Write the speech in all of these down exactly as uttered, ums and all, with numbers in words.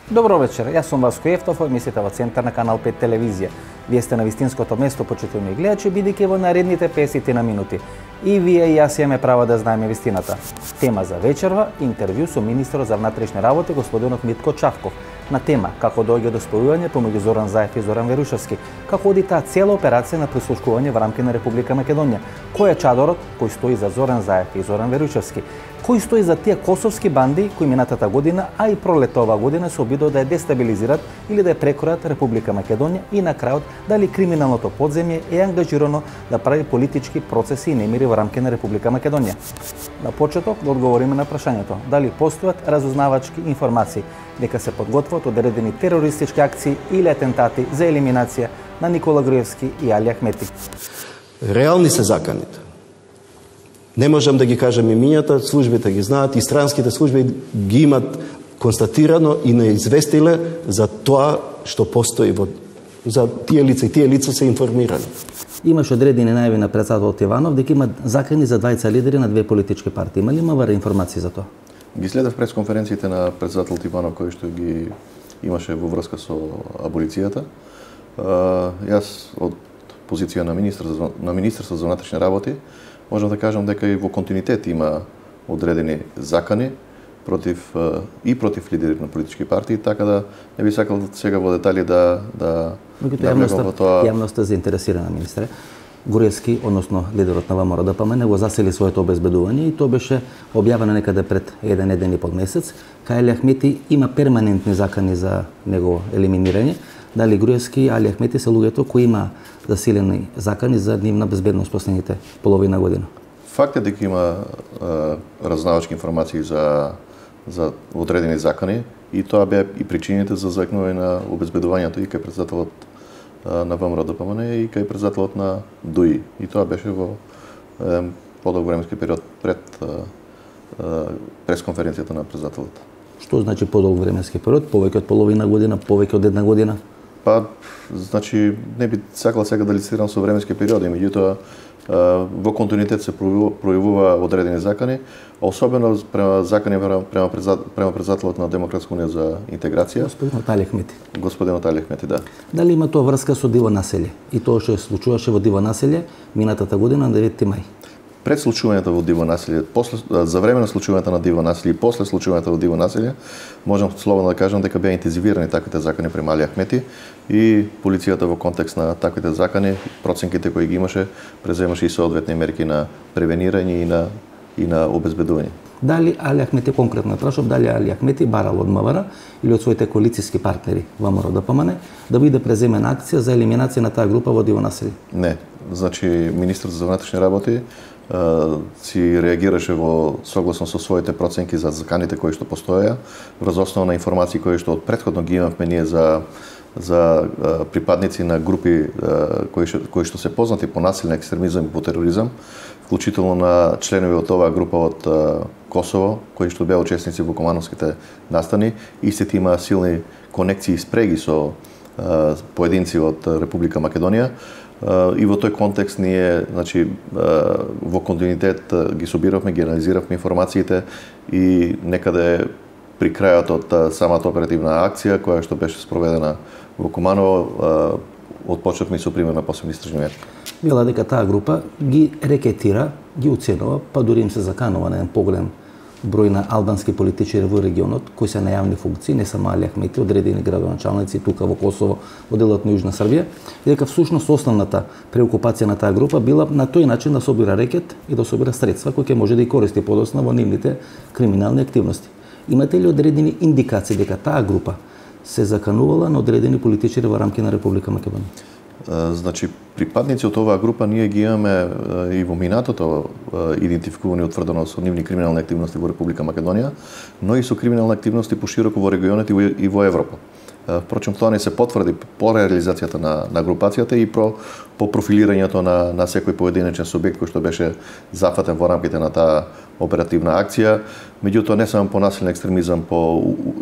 Добро вечер, јас сум Васко Ефтов, емисијата во Центар на Канал пет телевизија. Вие сте на вистинското место, почитувани гледачи, бидејќи во наредните песет на минути и вие и јас имаме право да знаеме вистината. Тема за вечерва – интервју со министерот за внатрешни работи господинот Митко Чавков на тема како доаѓа до спојување помеѓу Зоран Заев и Зоран Верушевски, како оди таа цела операција на прислушкување во рамки на Република Македонија, кој е чадорот кој стои за Зоран Заев и Зоран Верушевски, кој стои за тие косовски банди кои минатата година, а и пролетта оваа година се обидува да ја дестабилизират или да ја прекројат Република Македонија и на крајот дали криминалното подземје е ангажирано да прави политички процеси и немири во рамки на Република Македонија. На почеток да одговориме на прашањето дали постојат разузнавачки информации дека се подготвуваат одредени терористички акции или атентати за елиминација на Никола Груевски и Али Ахмети. Реални се заканите. Не можам да ги кажам имињата, службите ги знаат и странските служби ги имат констатирано и не известиле за тоа што постои во за тие лица и тие лица се информирани. Имаш одредени најави на председателот Иванов дека има закани за двајца лидери на две политички партии. Има ли мавара информации за тоа? Ги следев пресконференциите на председателот Иванов кои што ги имаше во врска со аболицијата. Јас од позиција на министр на Министерство за внатрешни работи можам да кажам дека и во континуитет има одредени закани против и против лидери на политички партии, така да не би сакал сега во детали да да да влегам во тоа. Јавноста заинтересирана, министре. Груевски, односно лидерот на ВМРО ДПМН, не го засели своето обезбедување и тоа беше објавено некаде пред еден еден и пол месец. Кај Али Ахмети има перманентни закани за негово елиминирање. Дали Груевски и Али Ахмети се луѓето кои има засилени закани за нивна безбедност последните половина година? Факт е дека има разузнавачки информации за за одредени закани и тоа беа и причините за зајакнување на обезбедувањето и кај председателот на ВМРО ДПМН и кај председателот на ДУИ. И тоа беше во е, подолг временски период пред е, пресконференцијата на председателот. Што значи подолг временски период? Повеќе од половина година, повеќе од една година? Па, значи, не би сакал сега да лицитирам со временски периоди, меѓутоа во континуитет се пројавува одредени закани, особено према закани према према председателот на Демократска унија за интеграција. Господинот Али Ахмети. Господинот Али Ахмети, да. Дали има тоа врска со Диво населје? И тоа што се случуваше во Диво населје минатата година на деветти мај? Пред случувањето во Диво населје, после за време на случувањето на Диво населје и после случувањето во Диво населје, можам слободно да кажам дека беа интензивирани таквите закани према Али Ахмети и полицијата во контекст на таквите закани, проценките кои ги имаше, преземаше и соодветни мерки на превенирање и на и на обезбедување. Дали Али Ахмети, конкретно прашав, дали Али Ахмети барал од МВР или од своите коалициски партнери во ВМРО ДПМН да биде преземена акција за елиминација на таа група во Диво населје? Не. Значи, министерот за внатрешни работи си реагираше во согласно со своите проценки за заканите кои што постоеа, врз основа на информации кои што од претходно ги имавме ние за за припадници на групи кои што кои што се познати по насилен екстремизам и по тероризам, вклучително на членови од оваа група од Косово, кои што беа учесници во комановските настани, истите има силни конекции и спреги со поединци од Република Македонија. И во тој контекст ние, значи, во континуитет ги собиравме, ги анализиравме информациите и некаде при крајот од самата оперативна акција која што беше спроведена во Куманово, отпочнавме со пример на посебни истражни мерки. Вела дека таа група ги рекетира, ги уценува, па дури им се заканува на еден поголем број на албански политичари во регионот кои се на јавни функции, не само Али Ахмети, одредени градоначалници тука во Косово, во делот на Јужна Србија, и дека всушност основната преокупација на таа група била на тој начин да собира рекет и да собира средства кои ќе може да ги користи подоцна во нивните криминални активности. Имате ли одредени индикации дека таа група се заканувала на одредени политичари во рамки на Република Македонија? Значи, припадници од оваа група ние ги имаме и во минатото идентификувани утврдено со нивни криминални активности во Република Македонија, но и со криминални активности пошироко во регионот и во Европа. Впрочем, тоа не се потврди по реализацијата на, на групацијата и про, по профилирањето на, на секој поединечен субјект кој што беше зафатен во рамките на таа оперативна акција. Меѓутоа, не само по насилен екстремизам, по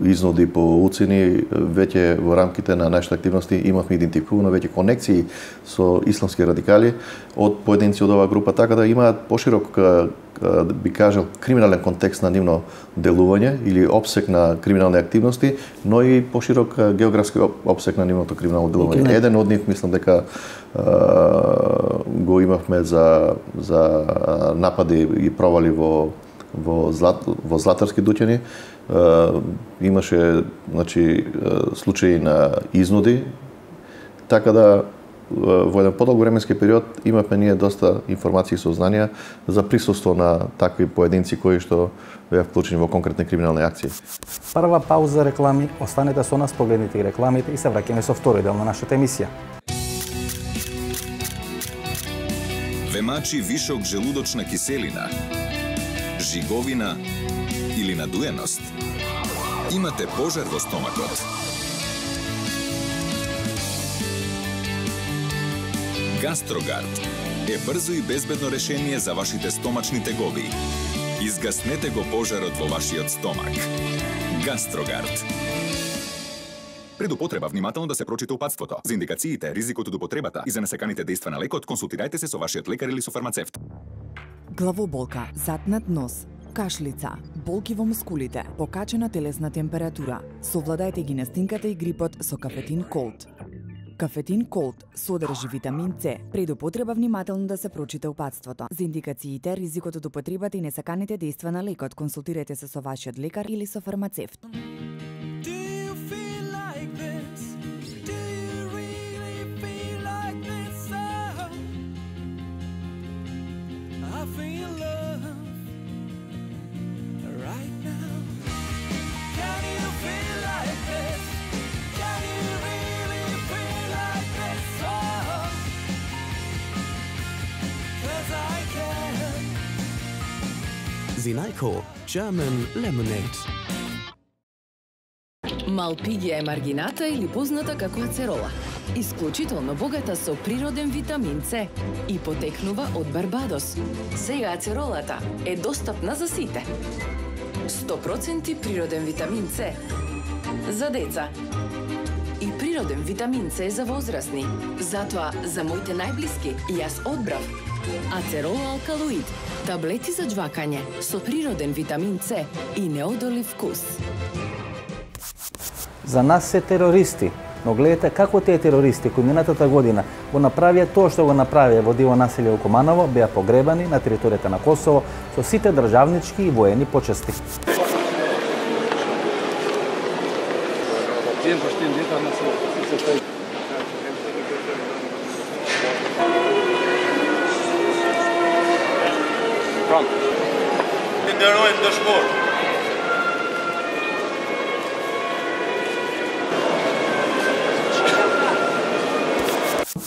изнуди, по уцени, веќе во рамките на нашите активности имавме идентификувано веќе конекции со исламски радикали од поединци од оваа група, така да имаат поширок би кажал, криминален контекст на нивно делување или опсек на криминални активности, но и поширок географски опсек на нивното криминално делување. Еден од нив, мислам дека го имавме за за напади и провали во во злат во златарски дуќани. Имаше, значи, случаи на изнуди, така да во еден подолг временски период имавме ние доста информации и сознанија за присуство на такви поединци кои што беа вклучени во конкретни криминални акции. Прва пауза реклами, останете со нас, погледнете и рекламите и се враќаме со втори дел на нашата емисија. Ве вишок желудочна киселина, жиговина или надуеност? Имате пожар во стомакот? Гастрогард е брзо и безбедно решение за вашите стомачни тегови. Изгаснете го пожарот во вашиот стомак. Гастрогард. Пред употреба внимателно да се прочита упатството. За индикациите, ризикот од употребата и за несаканите дејства на лекот, консултирајте се со вашиот лекар или со фармацевт. Главоболка, затнат нос, кашлица, болки во мускулите, покачена телесна температура. Совладајте ги настинката и грипот со Кафетин Колд. Кафетин Колд содржи витамин С. Пред употреба внимателно да се прочита упатството. За индикациите, ризикот од употребата и несаканите дејства на лекот, консултирајте се со вашиот лекар или со фармацевт. Zinalco German Lemonade. Малпигија е маргината или позната како ацерола. Исклучително богата со природен витамин С и потекнува од Барбадос. Сега ацеролата е достапна за сите. сто проценти природен витамин С за деца. И природен витамин С за возрастни. Затоа за моите најблиски јас одбрав Ацерола алкалоид, таблети за џвакање со природен витамин С и неодолив вкус. За нас се терористи, но гледате како тие терористи кои минатата година го направија тоа што го направија во диво населје во Куманово, беа погребани на територијата на Косово со сите државнички и воени почести.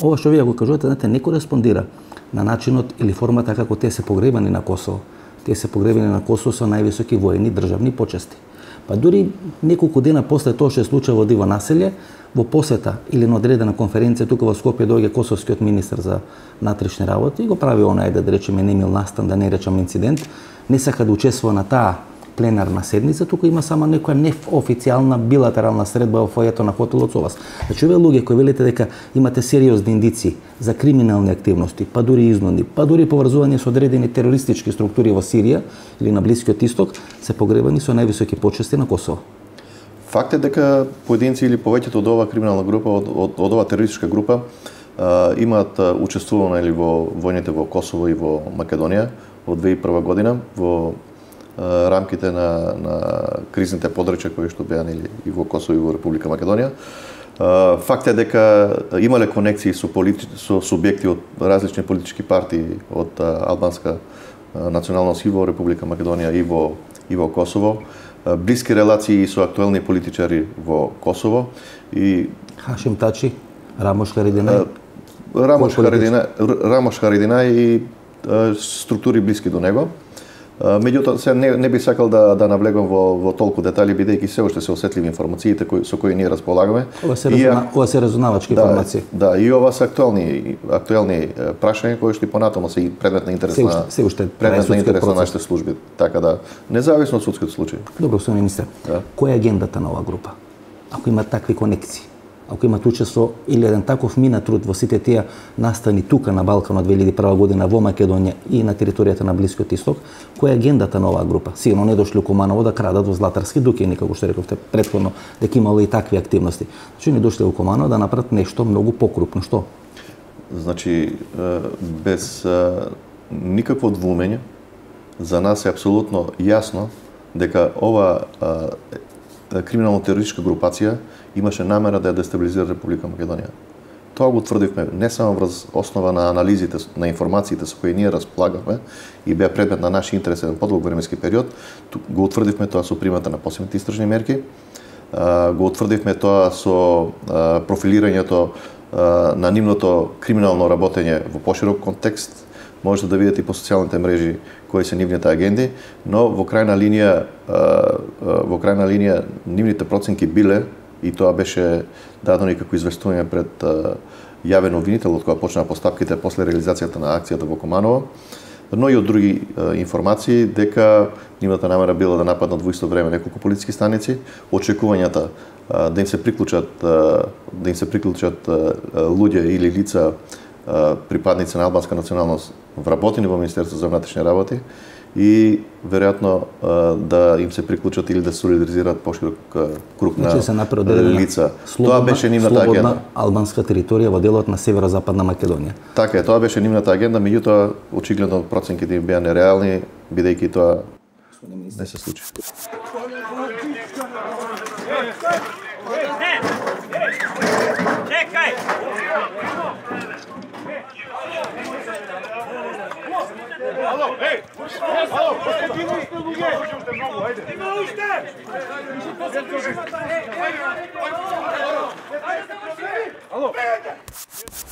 Ова што вие го кажувате, знаете, не кореспондира на начинот или формата како те се погребани на Косово. Те се погребани на Косово со највисоки воени државни почести. Па дури неколку дена после тоа што се случи во диво населје, во посета или на одредена конференција тука во Скопје доаѓа косовскиот министер за внатрешни работи и го прави онај, да речеме, немил настан, да не речам инцидент, не сака да учествува на таа пленарна седница, тука има само некоја неофицијална билатерална средба во фојето на хотелот со вас. Значи, овие луѓе кои велите дека имате сериозни индици за криминални активности, па дури изнуди, па дури поврзување со одредени терористички структури во Сирија или на Блискиот Исток, се погребани со највисоки почести на Косово. Факт е дека поединци или повеќето од оваа криминална група, од, од, од оваа терористичка група, а, имаат учествувано или во војните во Косово и во Македонија од две хиляди и прва година во рамките на, на кризните подрачја кои што беа нели и во Косово и во Република Македонија. Факт е дека имале конекции со, полити... со субјекти од различни политички партии од албанска националност и во Република Македонија и во, и во Косово. Блиски релации со актуелни политичари во Косово и Хашим Тачи, Рамош Харидинај. Рамош Харидинај, Рамош Харидинај и структури блиски до него. Меѓутоа, се не, не би сакал да, да навлегам во, во толку детали, бидејќи се уште се осетливи информациите кои, со кои ние располагаме. Ова се, разуна, ова се разунавачки да, информации. Да, и ова се актуелни, актуелни прашања кои што и понатаму се предмет на интерес на, се уште, предмет на интерес на нашите служби. Така да, независно од судскиот случај. Добро, господин министер, да. Која е агендата на оваа група? Ако има такви конекции, ако имате учество или еден таков мина труд во сите тие настани тука на Балканот две илјади и прва година во Македонија и на територијата на Блискиот Исток, која е агендата на оваа група? Сигурно не дошли у Куманово да крадат во Златарски дукини, како што рековте претходно, дека имало и такви активности. Значи не дошли у Куманово да направат нешто многу покрупно. Што? Значи, без никакво двумење, за нас е апсолутно јасно дека ова криминално-терористичка групација имаше намера да ја дестабилизира Република Македонија. Тоа го тврдивме не само врз основа на анализите, на информациите со кои ние располагавме и беа предмет на наши интереси на подолг временски период, го утврдивме тоа со примата на посебните истражни мерки, го утврдивме тоа со профилирањето на нивното криминално работење во поширок контекст. Можете да видите и по социјалните мрежи кои се нивните агенди, но во крајна линија во крајна линија нивните проценки биле, и тоа беше дадено и како известување пред јавен обвинител од кога почнаа постапките после реализацијата на акцијата во Куманово, но и од други информации дека нивната намера била да нападнат во исто време неколку полициски станици, очекувањата да им се приклучат да им се приклучат луѓе или лица припадници на албанска националност вработени во Министерството за внатрешни работи и веројатно да им се приклучат или да солидаризираат поширок круг на лица. Тоа беше нивната агенда. Слободна албанска територија во делот на северозападна Македонија. Така е, тоа беше нивната агенда, меѓутоа очигледно проценките им беа нереални, бидејќи тоа не се случи. Чекај! Ало, еј! Ало, постигни сте луѓе! Уште многу, ајде. Има уште! Ало.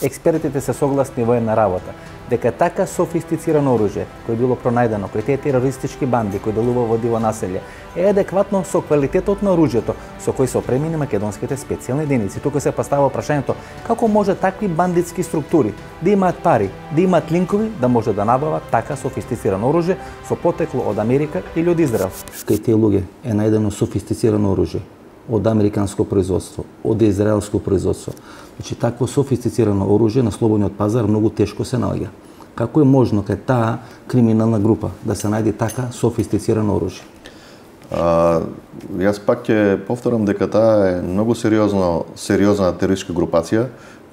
Експертите се согласни во една работа, дека така софистицирано оружје кој било пронајдено кој тие терористички банди кои делува во диво населје е адекватно со квалитетот на оружјето со кој се опремени македонските специјални единици. Тука се поставува прашањето како може такви бандитски структури да имаат пари, да имаат линкови да може да набават така софистицирано оружје со потекло од Америка или од Израел. Кај тие луѓе е најдено софистицирано оружје од американско производство, од израелско производство. Значи, такво софистицирано оружје на слободниот пазар многу тешко се наоѓа. Како е можно кај таа криминална група да се најде така софистицирано оружје? А, јас пак ќе повторам дека таа е многу сериозно, сериозна терористичка групација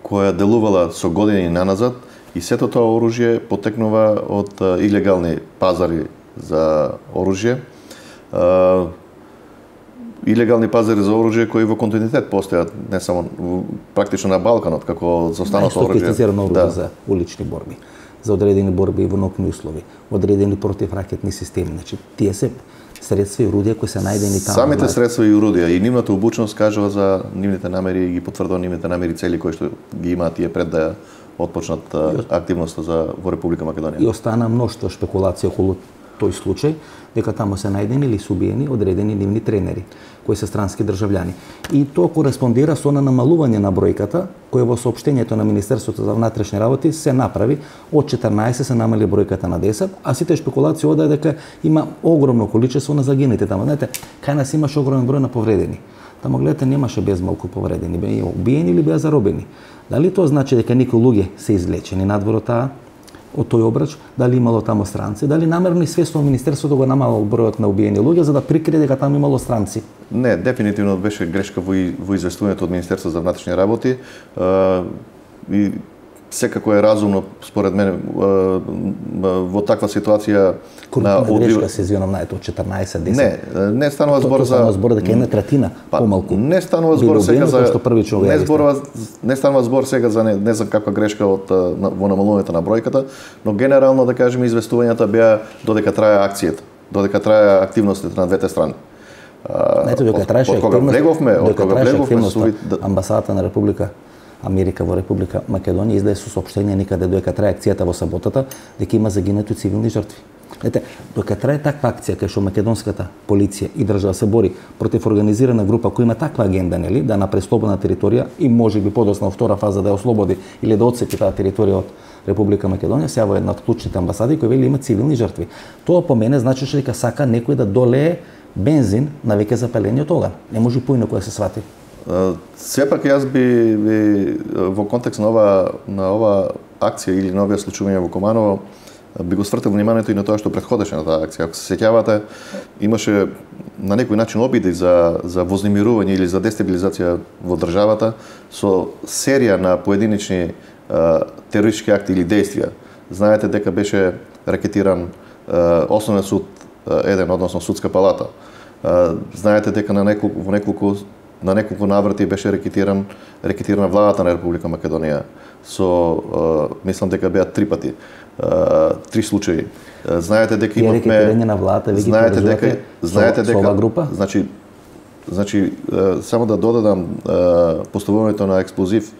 која делувала со години наназад и сето тоа оружје потекнува од илегални пазари за оружје. А, илегални пазари за оружје кои во континуитет постојат не само практично на Балканот како за останато оружје. Софистицирано оружје за улични борби, за одредени борби во нокни услови, одредени противракетни системи. Значи тие се средства и орудија кои се најдени таму. Самите средства и орудија и нивната обучност кажува за нивните намери и ги потврдува нивните намери цели кои што ги имаат тие пред да отпочнат активноста за во Република Македонија. И остана мноштво шпекулација околу тој случај, дека таму се најдени или се убиени одредени нивни тренери, кои се странски државјани. И тоа кореспондира со на намалување на бројката, која во соопштењето на Министерството за внатрешни работи се направи, од четрнаесет се намали бројката на десет, а сите шпекулации одај дека има огромно количество на загинати таму. Знаете, кај нас имаше огромен број на повредени. Таму гледате немаше безмалку повредени, беа убиени или беа заробени. Дали тоа значи дека некои луѓе се излечени надвор од таа од тој обрач, дали имало таму странци, дали намерно и свесно Министерството го намалало бројот на убиени луѓе за да прикрие дека таму имало странци? Не, дефинитивно беше грешка во, во известувањето од Министерството за внатрешни работи. А, и секако е разумно, според мене, во таква ситуација на грешка се извинам наето од четрнаесет десет. Не, не станува збор за станува збор дека една третина помалку. Не станува збор сега за не зборува не станува збор сега за не, не знам каква грешка од во намалувањето на бројката, но генерално да кажеме известувањата беа додека трае акцијата, додека трае активностите на двете страни. Ето дека траеше активноста, од кога влеговме со амбасадата на Република Америка во Република Македонија издаде со соопштение никаде додека трае акцијата во саботата дека има загинати цивилни жртви. Ете, додека трае таква акција кај што македонската полиција и држава се бори против организирана група која има таква агенда, нели, да направи слободна територија и можеби подоцна во втора фаза да ја ослободи или да отцепи таа територија од Република Македонија, се во една од клучните амбасади кои вели има цивилни жртви. Тоа по мене значеше дека сака некој да долее бензин на веќе запалениот оган. Не може поинаку да се свати. Сепак јас би, би во контекст на ова на ова акција или на овие случувања во Куманово би го свртил вниманието и на тоа што претходеше на таа акција. Ако се сеќавате, имаше на некој начин обиди за за вознемирување или за дестабилизација во државата со серија на поединечни терористички акти или действија. Знаете дека беше ракетиран Основен суд еден, односно Судска палата. Знаете дека на неколку во неколку на неколку наврати беше рекетиран рекетирана владата на Република Македонија со мислам дека беа три пати. Три случаи. Знаете дека имавме рекетирање на владата, веќе знаете дека знаете дека ова група? Значи значи само да додадам поставувањето на експлозив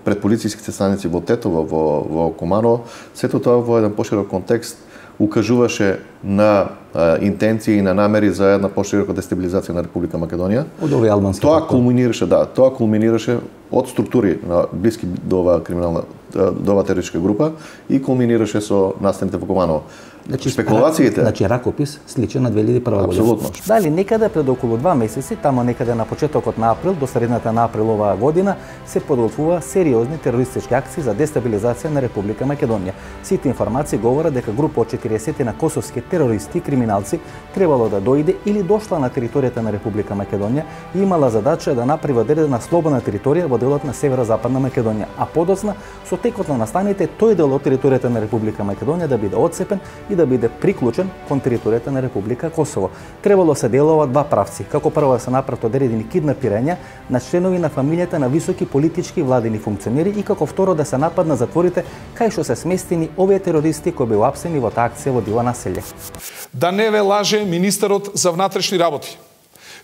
пред полициските станици во Тетово, во во Куманово, сето тоа во еден поширок контекст укажуваше на а, интенции и на намери за една поширока дестабилизација на Република Македонија. Од овој албански. Тоа кулминираше, да, тоа кулминираше од структури на блиски до оваа криминална до оваа терористичка група и кулминираше со настаните во Куманово. Значи, спекулациите, значи ракопис сличен на две илјади и прва година. Апсолутно. Дали некаде пред околу два месеци, тамо некаде на почетокот на април до средината на април оваа година се подготвува сериозни терористички акции за дестабилизација на Република Македонија. Сите информации говорат дека група од четириесет на косовски терористи и криминалци требало да дојде или дошла на територијата на Република Македонија и имала задача да направи одредена слободна територија во делот на северозападна Македонија, а подоцна со текот на настаните тој дел од територијата на Република Македонија да биде отцепен и да биде приклучен кон територијата на Република Косово. Требало се делува два правци. Како прво да се направат одредени киднапирања на членови на фамилијата на високи политички и владини функционери и како второ да се нападна затворите кај што се сместени овие терористи кои беа апсени во таа акција во Дива населје. Да не ве лаже министерот за внатрешни работи.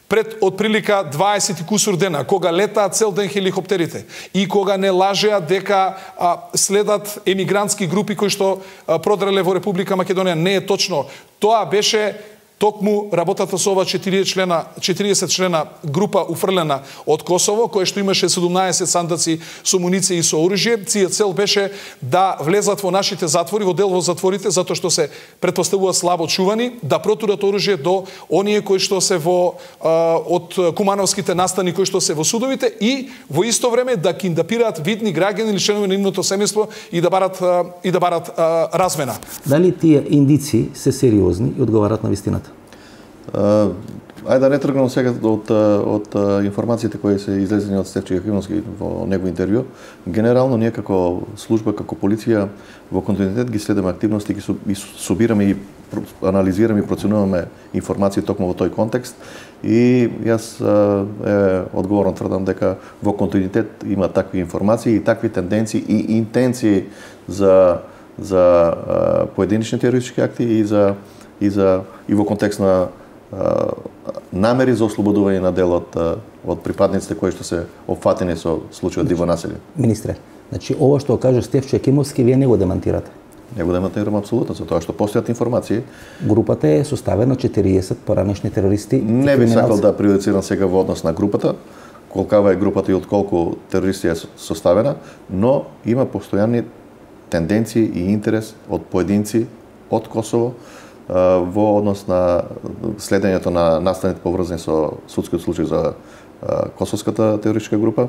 Пред отприлика дваесет и кусур дена, кога летаат цел ден хеликоптерите и кога не лажеа дека а, следат емигрантски групи кои што а, продреле во Република Македонија, не е точно. Тоа беше токму работата со ова четириесет члена, четириесет члена група уфрлена од Косово, која што имаше седумнаесет сандаци со муниција и со оружје. Ција цел беше да влезат во нашите затвори, во дел во затворите, затоа што се претпоставуваат слабо чувани, да протурат оружје до оние кои што се во а, од кумановските настани кои што се во судовите и во исто време да киндапираат видни граѓани или членови на нивното семејство и да барат а, и да барат а, размена. Дали тие индици се сериозни и одговарат на вистината? Uh, ајде да не тргнам сега од, од, од информациите кои се излезени од Стефче Јахимовски во негово интервју. Генерално ние како служба, како полиција во континуитет ги следиме активности, ги собираме и анализираме и проценуваме информации токму во тој контекст и јас е, одговорно тврдам дека во континуитет има такви информации и такви тенденции и интенции за за поединечни терористички акти и за и за и во контекст на намери за ослободување на дел од, од припадниците кои што се опфатени со случајот Диво населје. Министре, значи ова што каже Стефче Јахимовски, вие не го демантирате? Не го демантирам апсолутно, за тоа што постојат информации. Групата е составена од четириесет поранешни терористи. Не би сакал да прејудицирам сега во однос на групата, колкава е групата и од колку терористи е составена, но има постојани тенденции и интерес од поединци од Косово во однос на следењето на настаните поврзани со судскиот случај за косовската терористичка група,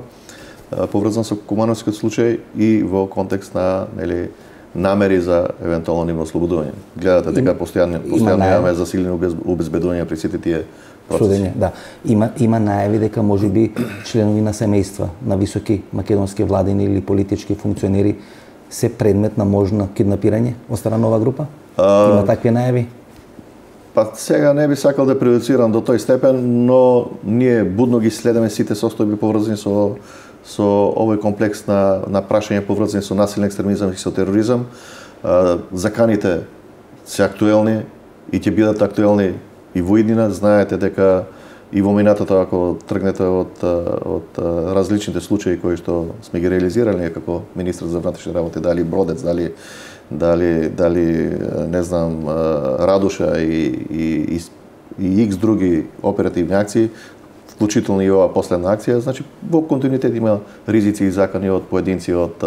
поврзан со кумановскиот случај и во контекст на нели намери за евентуално нивно ослободување. Гледате дека постојано постојано имаме засилени обезбедувања при сите тие процеси. Да, има има најави дека можеби членови на семејства на високи македонски владини или политички функционери се предмет на можно киднапирање од страна на оваа група? Uh, Има такви најави? Па сега не би сакал да прејудицирам до тој степен, но ние будно ги следиме сите состојби поврзани со со овој комплекс на на прашања поврзани со насилен екстремизам и со тероризам. Uh, заканите се актуелни и ќе бидат актуелни и во иднина. Знаете дека и во минатото, ако тргнете од од различните случаи кои што сме ги реализирали како министар за внатрешни работи, дали Бродец, дали дали дали не знам Радуша и и и икс други оперативни акции, вклучително и ова последна акција, значи во континуитет има ризици и закани од поединци од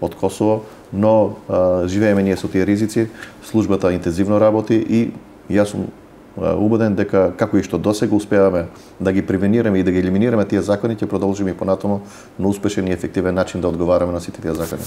од Косово, но а, живееме ние со тие ризици, службата интензивно работи и јас сум убеден дека како и што досега успеаваме да ги превенираме и да ги елиминираме тие закони, ќе продолжиме и понатаму на успешен и ефективен начин да одговараме на сите тие закони.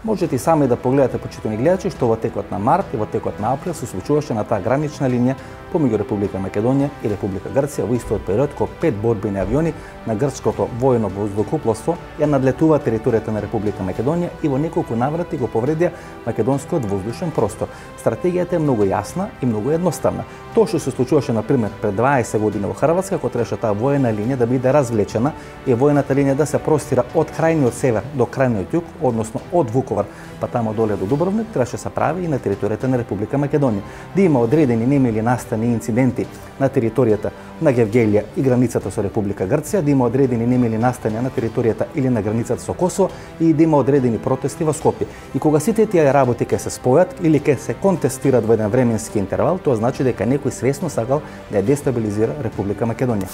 Можете и сами да погледате, почитувани гледачи, што во текот на март и во текот на април се случуваше на таа гранична линија помеѓу Република Македонија и Република Грција во истиот период кога пет борбени авиони на грчкото воено воздухопловство ја надлетува територијата на Република Македонија и во неколку наврати го повредија македонскиот воздушен простор. Стратегијата е многу јасна и многу едноставна. Тоа што се случуваше на пример пред дваесет години во Хрватска, кога требаше таа воена линија да биде развлечена и воената линија да се простира од крајниот север до крајниот југ, односно од Вуковар па тамо доле до Дубровник, требаше се прави и на територијата на Република Македонија. Да има одредени немили настани инциденти на територијата на Гевгелија и границата со Република Грција, да има одредени немили настани на територијата или на границата со Косово и да има одредени протести во Скопје. И кога сите тие работи ќе се спојат или ќе се контестират во еден временски интервал, тоа значи дека некој свесно сакал да ја дестабилизира Република Македонија.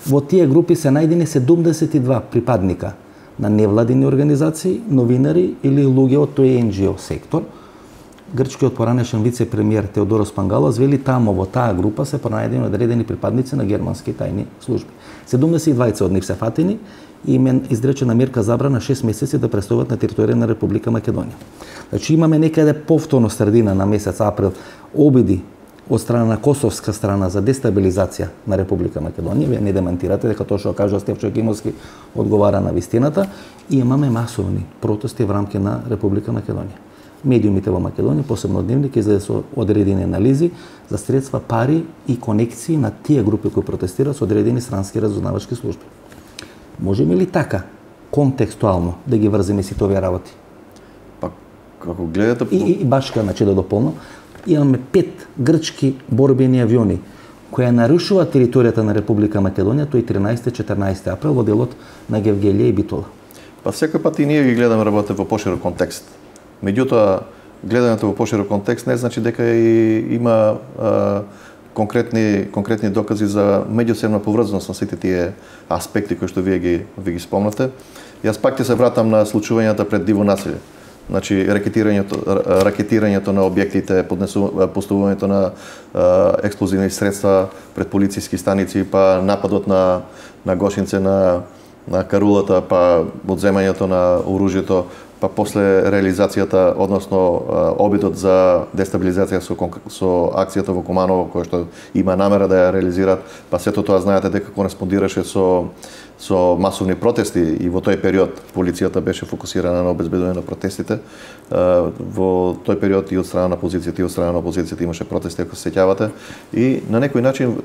Во тие групи се најдени седумдесет и два припадника на невладини организации, новинари или луѓе од тој ен џи о сектор. Грчкиот поранешен вице-премиер Теодорос Пангалос вели тамо во таа група се пронајдени одредени припадници на германски тајни служби. седумдесет и двајца од нив се фатени и им е изречена мерка забрана шест месеци да престојат на територија на Република Македонија. Значи имаме некаде повторно средина на месец април обиди од страна на косовска страна за дестабилизација на Република Македонија. Вие не демантирате дека тоа што кажа Стефчо Екимовски одговара на вистината, и имаме масовни протести во рамки на Република Македонија. Медиумите во Македонија, посебно Дневник, излезе со одредени анализи за средства, пари и конекции на тие групи кои протестираат со одредени странски разузнавачки служби. Можеме ли така контекстуално да ги врземе сите овие работи? Па како гледате и, и башка, значи да дополнам, имаме пет грчки борбени авиони кои нарушуваат територијата на Република Македонија тој тринаесети и четиринаесети април во делот на Гевгелија и Битола. Па секој пат и ние ги гледаме работите во поширок контекст. Меѓутоа, гледањето во поширок контекст не значи дека и има а, конкретни конкретни докази за меѓусебна поврзаност на сите тие аспекти кои што вие ги ви ги спомнате. Јас пак ќе се вратам на случувањата пред диво населје. Значи ракетирањето ракетирањето на објектите, поставувањето на а, експлозивни средства пред полициски станици, па нападот на на Гошинце на на карулата, па одземањето на оружјето, па после реализацијата, односно обидот за дестабилизација со, со акцијата во Куманово, која што има намера да ја реализираат, па сето тоа знаете дека кореспондираше со со масовни протести и во тој период полицијата беше фокусирана на обезбедување на протестите. Во тој период и од страна на позицијата и од страна на опозицијата имаше протести, ако се сеќавате, и на некој начин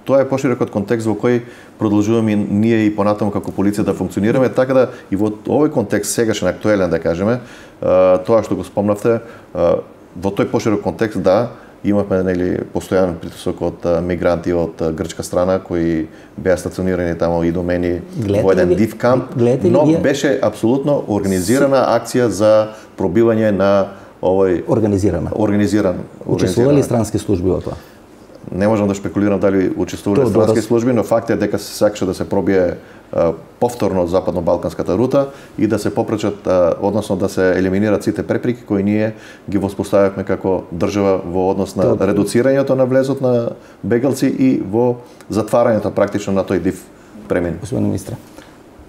тоа е поширокот контекст во кој продолжуваме ние и понатаму како полиција да функционираме, така да и во овој контекст сегашен актуелен да кажеме, тоа што го спомнавте, во тој поширок контекст да имавме нели постојан притисок од мигранти од грчка страна кои беа стационирани таму и домени во еден див камп, но беше апсолутно организирана акција за пробивање на овој организирана. Организиран. Учествувале странски служби во тоа? Не можам да шпекулирам дали учествувале странски служби, но факт е дека се сакаше да се пробие а, повторно западно-балканската рута и да се попречат, а, односно да се елиминират сите препреки кои ние ги воспоставивме како држава во однос на Тоа... редуцирањето на влезот на бегалци и во затварањето практично на тој див премин. Господин министре,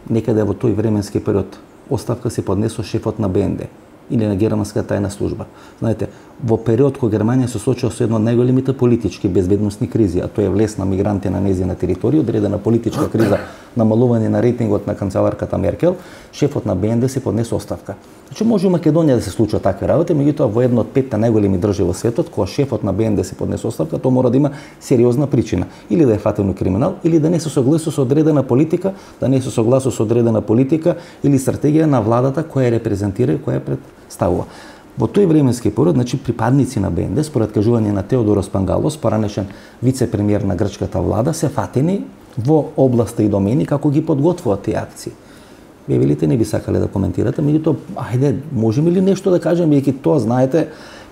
некаде во тој временски период оставка се поднесо шефот на Бе Ен Де или на германската тајна служба. Знаете, во период кога Германија се соочува со една од најголемите политички безбедносни кризи, а тоа е влез на мигранти на нејзина територија, одредена политичка криза, намалување на рейтингот на канцеларката Меркел, шефот на Бе Ен Де се поднесе оставка. Значи може у Македонија да се случува такви работи, меѓутоа во една од петте најголеми држави во светот, кога шефот на Бе Ен Де се поднесе оставка, тоа мора да има сериозна причина, или да е фатено криминал, или да не се согласува со одредена политика, да не се согласува со одредена политика или стратегија на владата која репрезентира и која представува. Во тој временски период, значи припадници на БНД, според кажување на Теодорос Пангалос, поранешен вице-премиер на грчката влада, се фатени во области и домени како ги подготвуваат тие акции. Вие велите не би сакале да коментирате, меѓутоа, ајде, можеме ли нешто да кажеме, бидејќи тоа, знаете,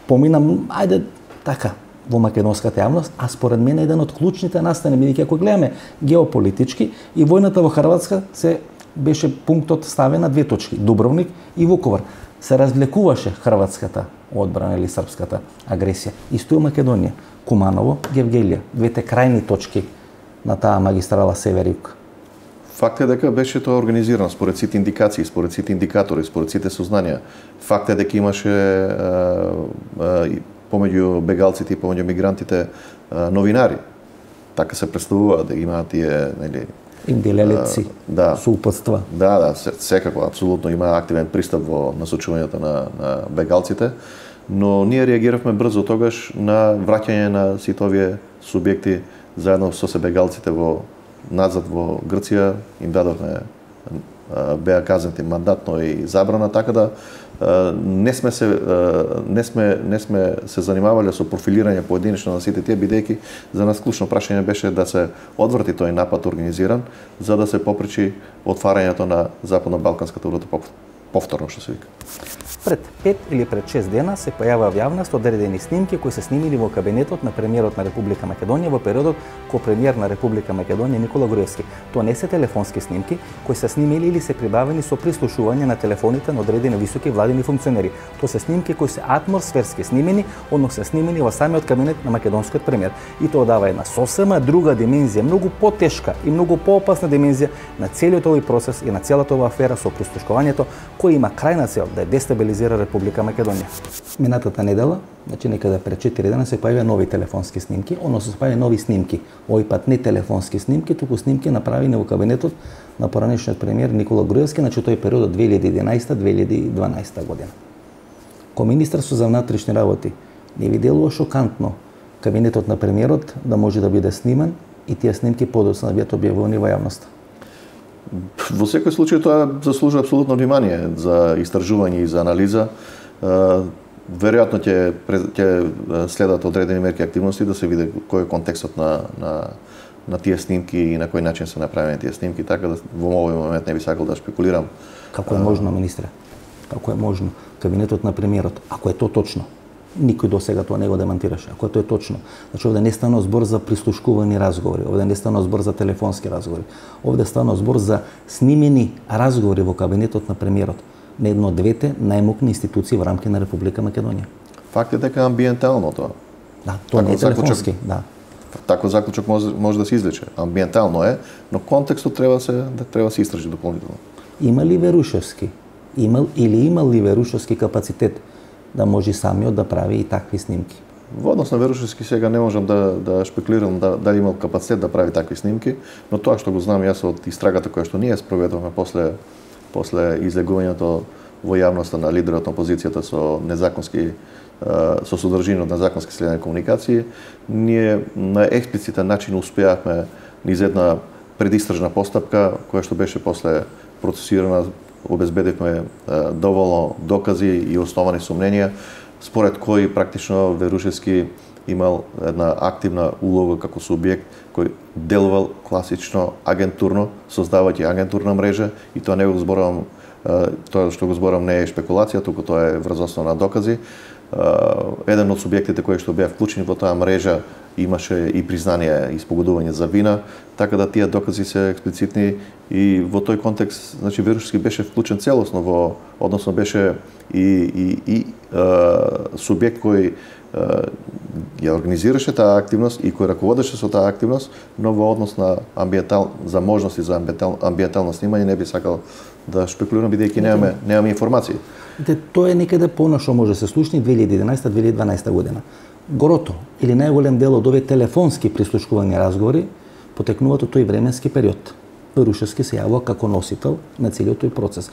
поминам, ајде, така, во македонската јавност, а според мене еден од клучните настани, бидејќи ако гледаме геополитички и војната во Хрватска се беше пунктот ставен на две точки, Дубровник и Вуковар. Се развлекуваше хрватската одбрана или српската агресија. Исто и Македонија, Куманово, Гевгелија, двете крајни точки на таа магистрала север-југ. Факт е дека беше тоа организирано според сите индикации, според сите индикатори, според сите сознанија. Факт е дека имаше а, а, помеѓу бегалците и помеѓу мигрантите а, новинари. Така се представува да имаат тие, нели, им делелеци, да, соупатства. Да, да, секако, апсолутно има активен пристап во насочувањето на, на бегалците, но ние реагиравме брзо тогаш на враќање на сите овие субјекти заедно со се бегалците во назад во Грција, им дадовме, беа казнати мандатно и забрана, така да не сме се не сме не сме се занимавале со профилирање поединечно на сите тие, бидејќи за нас клучно прашање беше да се одврати тој напад организиран, за да се попречи отварањето на западно-балканската рута повторно, што се вика. Пред пет или пред шест дена се појаваа во јавност одредени снимки кои се снимили во кабинетот на премиерот на Република Македонија во периодот кога премиер на Република Македонија Никола Груевски. Тоа не се телефонски снимки кои се снимили или се прибавени со прислушување на телефоните на одредени високи владини функционери. Тоа се снимки кои се атмосферски снимени, односно се снимени во самиот кабинет на македонскиот премиер. И тоа дава една сосема друга димензија, многу потешка и многу поопасна димензија на целиот овој процес и на целата оваа афера со прислушкувањето, кој има крајна цел да дестабилизира Република Македонија. Минатата недела, значи некаде пред четири дена се појавија нови телефонски снимки, односно се појавија нови снимки. Овој пат не телефонски снимки, туку снимки направени во кабинетот на поранешниот премиер Никола Груевски, значи тој период од две илјади и единаесета до две илјади и дванаесета година. Ко Министерство за внатрешни работи не ви делува шокантно кабинетот на премиерот да може да биде сниман и тие снимки подоцна да бидат објавени во јавноста? Во секој случај тоа заслужува апсолутно внимание за истражување и за анализа. Веројатно ќе ќе следат одредени мерки и активности да се види кој е контекстот на на на тие снимки и на кој начин се направени тие снимки, така да во овој момент не би сакал да шпекулирам. Како е можно, министре? Како е можно кабинетот на премиерот, ако е тоа точно? Никој до сега тоа не го демантираше. Ако тоа е точно, значи овде не станува збор за прислушкувани разговори, овде не станува збор за телефонски разговори. Овде станува збор за снимени разговори во кабинетот на премиерот на едно од двете најмокни институции во рамки на Република Македонија. Факт е дека амбиентално тоа. Да, тоа не е телефонски, да. Таков заклучок може, може да се извлече. Амбиентално е, но контекстот треба се да треба се истражи дополнително. Има ли Верушевски? Имал или имал ли Верушевски капацитет да може самиот да прави и такви снимки? Во однос на Верушевски сега не можам да да шпекулирам да дали имал капацитет да прави такви снимки, но тоа што го знам јас од истрагата која што ние спроведуваме после после излегувањето во јавноста на лидерот на опозицијата со незаконски со содржина од незаконски следени комуникации, ние на експлицитен начин успеавме низ една предистражна постапка која што беше после процесирана, обезбедивме доволно докази и основани сомненија според кои практично Верушевски имал една активна улога како субјект кој делувал класично агентурно, создавајќи агентурна мрежа, и тоа не го зборувам, тоа што го зборувам не е шпекулација, туку тоа е врз основа на докази. Еден од субјектите кои што беа вклучени во таа мрежа имаше и признание и спогодување за вина, така да тие докази се експлицитни, и во тој контекст, значи Верушевски беше вклучен целосно во, односно беше и и и е, субјект кој ја организираше таа активност и кој раководеше со таа активност, но во однос на амбиентал за можности за амбиентал, амбиентално снимање не би сакал да шпекулирам, бидејќи немаме немаме информации. Де, тоа е некаде понашо може се слушни две илјади и единаесета до две илјади и дванаесета година. Горото или најголем дел од овие телефонски прислушкувања разговори потекнуваат од тој временски период. Верушевски се јавува како носител на целиот тој процес.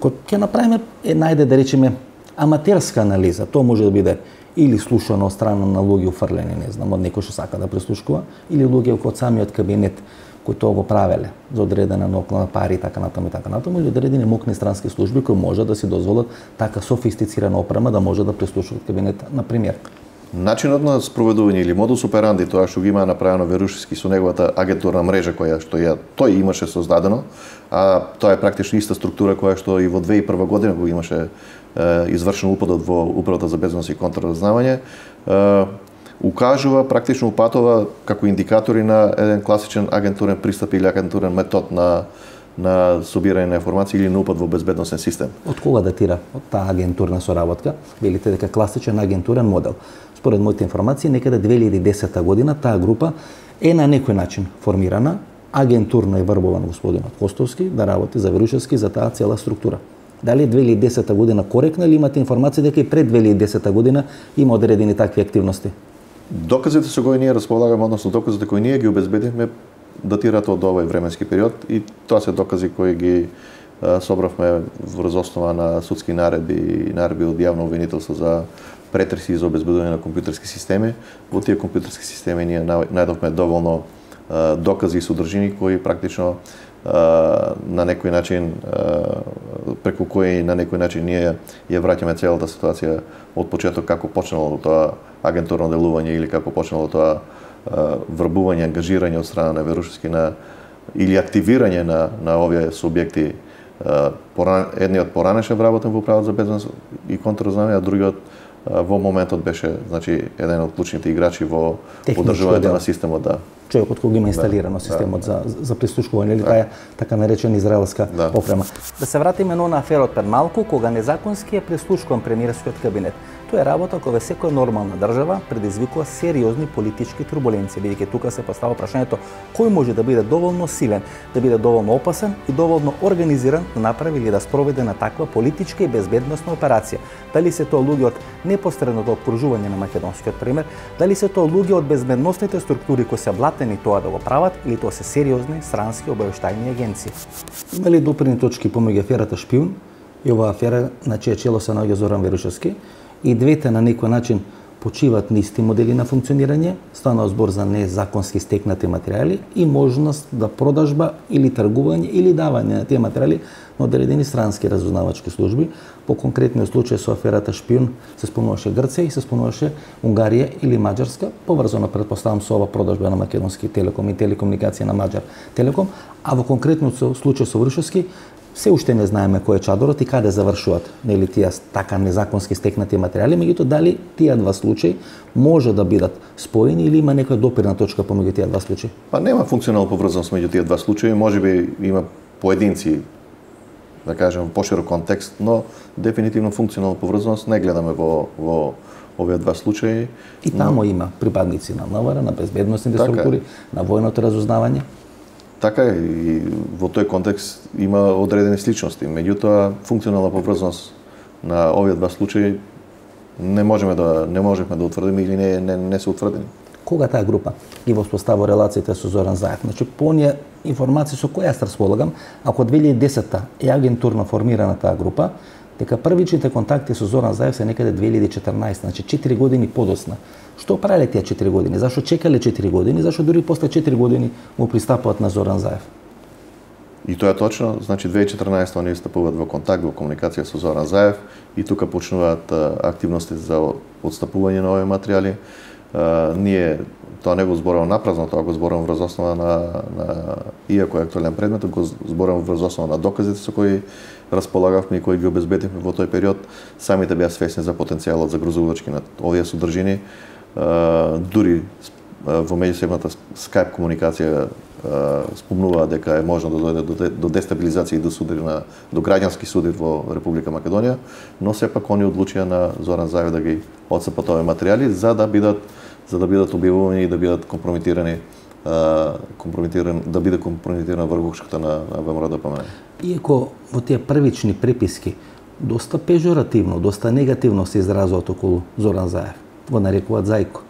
Кога ќе направиме е најде да речеме аматерска анализа, тоа може да биде или слушано од страна на луѓе уфрлени, не знам, од некој што сака да прислушкува, или луѓе од самиот кабинет кои тоа го правеле за одредена ноклона пари и така натаму и така натаму, или одредени мокни странски служби кои може да си дозволат така софистицирана опрема да може да прислушуваат кабинет, на пример. Начинот на спроведување или модус операнди, тоа што ги има направено Верушевски со неговата агентурна мрежа која што ја тој имаше создадено, а тоа е практично иста структура која што и во две хиляди и прва година го имаше е, извршен упадот во Управата за безбедност и контраразнавање, е, укажува, практично упатува како индикатори на еден класичен агентурен пристап или агентурен метод на на собирање на информации или на упад во безбедносен систем. Од кога датира од таа агентурна соработка? Велите дека класичен агентурен модел. Според моите информации, некаде две илјади и десета година таа група е на некој начин формирана, агентурно е врбован господинот Костовски да работи за Верушевски за таа цела структура. Дали две илјади и десета година коректна или имате информација дека и пред две илјади и десета година има одредени такви активности? Доказите со кои ние располагаме, односно доказите кои ние ги обезбедивме, датираат од овој временски период и тоа се докази кои ги а, собравме врз основа на судски наредби и наредби од јавно обвинителство за претреси за обезбедување на компјутерски системи. Во тие компјутерски системи ние најдовме доволно а, докази и содржини кои практично а, на некој начин а, преку кои на некој начин ние ја враќаме целата ситуација од почеток како почнало тоа агентурно делување или како почнало тоа врбување, ангажирање од страна на Верушевски на или активирање на на овие субјекти. Поран, едниот поранеше вработен во Управата за безбедност и контраразнавање, а другиот во моментот беше, значи, еден од клучните играчи во одржувањето на системот, да. Човекот кој има инсталирано да, системот да, за за прислушкување или да. Таа така наречена израелска да. Опрема. Да се вратиме на аферот пред малку кога незаконски е прислушкуван премиерскиот кабинет. Тоа е работа која секоја нормална држава предизвикува сериозни политички турбуленции, бидејќи тука се поставува прашањето кој може да биде доволно силен, да биде доволно опасен и доволно организиран да направи или да спроведе на таква политичка и безбедносна операција. Дали се тоа луѓе од непосредното окружување на македонскиот премиер, дали се тоа луѓе од безбедносните структури кои се блатени тоа да го прават, или тоа се сериозни странски обавештајни агенции. Има ли допирни точки помеѓу аферата Шпиун и оваа афера на чие чело се наоѓа Зоран Верушевски? И двете на некој начин почиваат на исти модели на функционирање, станува збор за незаконски стекнати материјали и можност да продажба или тргување или давање на тие материјали на одредени странски разузнавачки служби. По конкретниот случај со аферата Шпиун се спомнуваше Грција и се спомнуваше Унгарија или Маđарска, поврзано претпоставам со ова продажба на Македонски Телеком и телекомуникација на Маđар Телеком, а во конкретниот случај со Верушевски се уште не знаеме кој е чадорот и каде завршуваат, нели тие така незаконски стекнати материјали, меѓутоа дали тие два случаи може да бидат споени или има некоја допирна точка помеѓу тие два случаи? Па нема функционална поврзаност меѓу тие два случаи, можеби има поединци, да кажем, во поширок контекст, но дефинитивно функционална поврзаност не гледаме во во овие два случаи. И тамо но... има припадници на МВР, на безбедносните така структури, на војното разузнавање. Така е, и во тој контекст има одредени сличности. Меѓутоа, функционална поврзаност на овие два случаи не можеме да не можеме да утврдиме или не не, не се утврдени. Кога таа група ги воспоставува релациите со Зоран Заев? Значи, по оние информации со кои јас располагам, ако две илјади и десета е агентурно формирана таа група, дека првичните контакти со Зоран Заев се некаде две илјади и четрнаесета, значи четири години подоцна. Што правеле тие четири години? Зашо чекале четири години? Зашо дури после четири години му пристапуваат на Зоран Заев? И тоа е точно, значи две илјади и четрнаесета они стапуваат во контакт, во комуникација со Зоран Заев и тука почнуваат активности за отстапување на овие материјали. Uh, ние тоа не го зборувам напразно, тоа го зборувам врз основа на, на иако е актуелен предмет, го зборувам врз основа на доказите со кои располагавме и кои ги обезбедивме во тој период. Самите беа свесни за потенцијалот за грозувачки на овие содржини. Uh, дури uh, во меѓусебната скајп комуникација uh, спомнуваа дека е можно да дојде до, до дестабилизација и до судари на до граѓански суди во Република Македонија, но сепак они одлучија на Зоран Заев да ги отцепат овие материјали за да бидат за да бидат објавувани и да бидат компрометирани, а, компрометиран, да биде компрометирана врвушката на, на ВМРО-ДПМН. Иако во тие првични преписки доста пежоративно, доста негативно се изразуваат околу Зоран Заев, го нарекуваат Зајко.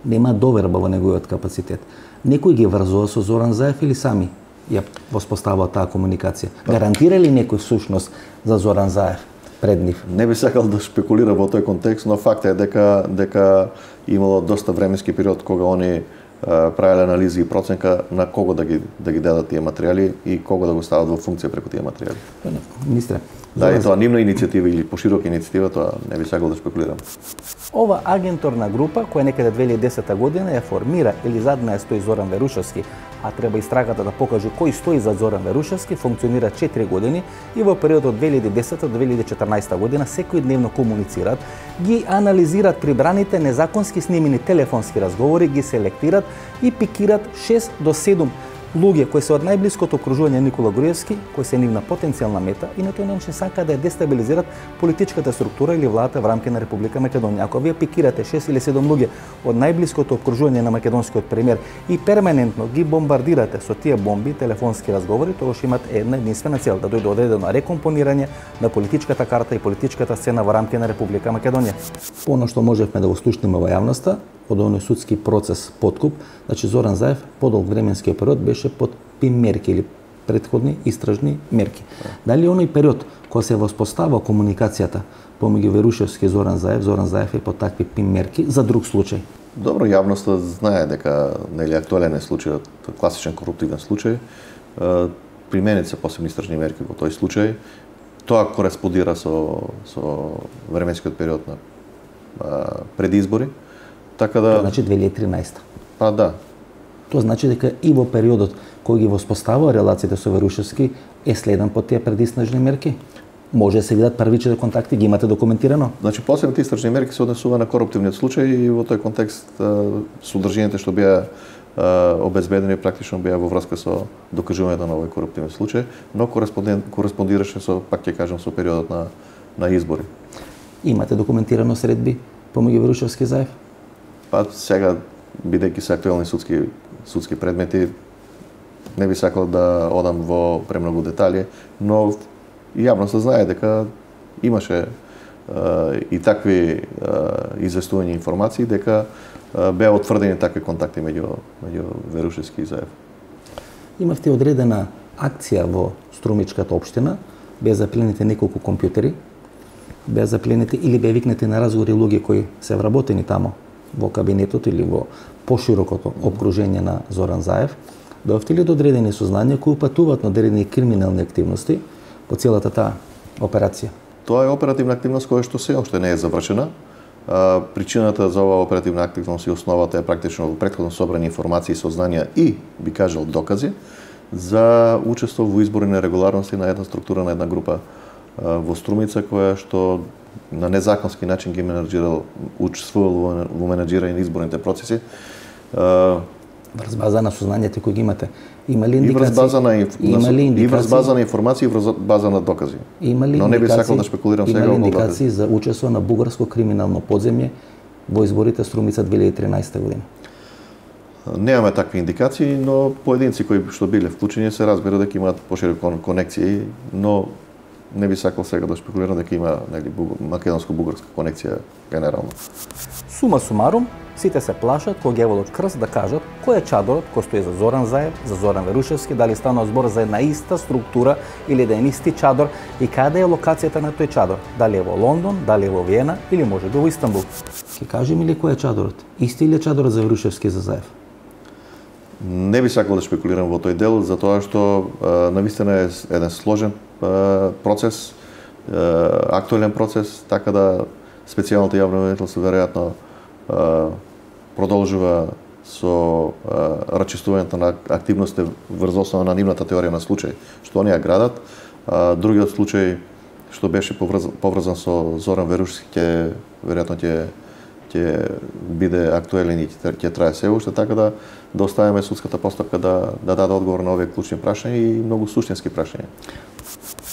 Нема доверба во неговиот капацитет. Некој ги врзува со Зоран Заев или сами ја воспоставува таа комуникација? Гарантира ли некој сушност за Зоран Заев пред нив? Не би сакал да шпекулира во тој контекст, но факт е дека дека имало доста временски период кога они правеле анализи и проценка на кого да ги да ги дадат тие материјали и кого да го стават во функција преку тие материјали. Министре, да, и тоа нивна иницијатива или поширока иницијатива, тоа не би сакал да спекулирам. Ова агенторна група, која некаде две илјади и десета година ја формира или зад неја стои Зоран Верушевски, а треба истрагата да покаже кој стои зад Зоран Верушевски, функционира четири години и во периодот од две илјади и десета до две илјади и четрнаесета година секојдневно комуницираат, ги анализираат прибраните незаконски снимени телефонски разговори, ги селектираат и пикираат шест до седум луѓе кои се од најблиското окружување Никола Груевски, кои се нивна потенцијална мета и на тој начин сака да ја дестабилизират политичката структура или владата во рамки на Република Македонија. Ако вие пикирате шест или седум луѓе од најблиското окружување на македонскиот премиер и перманентно ги бомбардирате со тие бомби, телефонски разговори, тогаш имат една единствена цел, да дојде одредено рекомпонирање на политичката карта и политичката сцена во рамки на Република Македонија. Оно што можевме да го слушнеме во јавноста од оној судски процес подкуп, значи Зоран Заев подолг временски период беше под пим мерки или претходни истражни мерки. Дали оној период кога се воспостава комуникацијата помеѓу Верушевски и Зоран Заев, Зоран Заев е под такви пим мерки за друг случај? Добро, јавноста знае дека нели актуелен е случајот, класичен коруптивен случај. Применет се посебни истражни мерки во тој случај. Тоа кореспондира со со временскиот период на пред избори. Така да... Тоа значи две илјади и тринадесета. Па да. Тоа значи дека и во периодот кој ги воспоставува релациите со Верушевски е следен по тие предистражни мерки? Може да се видат првичните контакти, ги имате документирано? Значи посебните истражни мерки се однесува на коруптивниот случај и во тој контекст содржините што беа обезбедени практично беа во врска со докажувањето на овој коруптивен случај, но кореспондираше со, пак ќе кажам, со периодот на на избори. Имате документирано средби помеѓу Верушевски и Заев? Па сега, бидејќи се актуелни судски судски предмети, не би сакал да одам во премногу детали, но јавноста знае дека имаше е, и такви е, известувања информации дека е, беа утврдени такви контакти меѓу меѓу Верушевски и Заев. Имавте одредена акција во Струмичката општина, беа запленети неколку компјутери, беа запленети или беа викнати на разговори луѓе кои се вработени тамо во кабинетот или во поширокото окружение на Зоран Заев, дојавте ли до одредени сознанија кои упатуваат на одредени криминални активности по целата таа операција? Тоа е оперативна активност која што се уште не е завршена. А, причината за оваа оперативна активност и основата е практично во претходно собрани информации, сознанија и, би кажал, докази за учество во избори нерегуларности на една структура, на една група а, во Струмица, која што на незаконски начин ги менаџирал, учествувал во менаџирање на изборните процеси. Врз база на сознанията кои ги имате, има ли индикации? И врз база на, инф... има ли индикации? И врз база на информации, и врз база на докази. Има ли Но не би сакал да шпекулирам сега. Има ли индикации за учество на бугарско криминално подземје во изборите Струмица две илјади и тринадесета година? Немаме такви индикации, но поединци кои што биле вклучени се разбира дека имаат пошироки конекции, но не би сакал сега да шпекулирам дека има нели македонско-бугарска конекција генерално. Сума сумарум, сите се плашат кога ги водат крст да кажат кој е чадорот кој стои за Зоран Заев, за Зоран Верушевски, дали станува збор за една иста структура или да е исти чадор и каде е локацијата на тој чадор, дали е во Лондон, дали е во Виена или може би во Истанбул. Ќе кажеме ли кој е чадорот? Исти или е чадорот за Верушевски и за Заев? Не би сакал да шпекулирам во тој дел, затоа што навистина е еден сложен процес, актуелен процес, така да специјалното јавно обвинителство веројатно продолжува со рачистувањето на активности врз основа на нивната теорија на случај, што оние градат. Другиот случај што беше поврзан со Зоран Верушевски ќе веројатно ќе ќе биде актуелен и ќе трае се уште, така да да оставиме судската постапка да да даде одговор на овие клучни прашања и многу суштински прашања.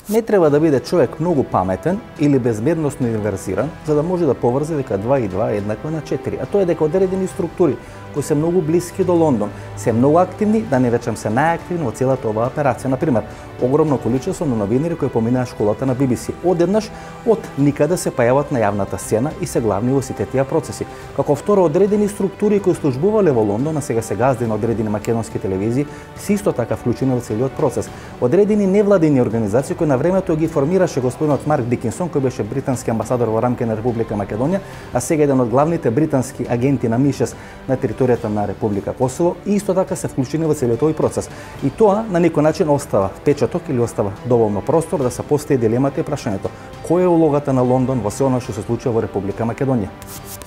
Не треба да биде човек многу паметен или безбедносно инверзиран за да може да поврзе дека два и два е еднакво на четири, а тоа е дека одредени структури кои се многу блиски до Лондон, се многу активни, да не речем се најактивни во целата оваа операција. Например, огромно количество на новинари кои поминаа школата на Би Би Си. Одеднаш од никаде се појават на јавната сцена и се главни во сите тие процеси. Како второ, одредени структури кои службувале во Лондон, а сега се газди на одредени македонски телевизии, се исто така вклучени во целиот процес. Одредени невладини организации кои на времето ги формираше господинот Марк Дикинсон, кој беше британски амбасадор во рамки на Република Македонија, а сега еден од главните британски агенти на МИ-шест на територијата на Република Косово, и исто така се вклучени во целиот овој процес. И тоа на некој начин остава впечаток или остава доволно простор да се постави дилемата и прашањето: која е улогата на Лондон во се она што се случува во Република Македонија?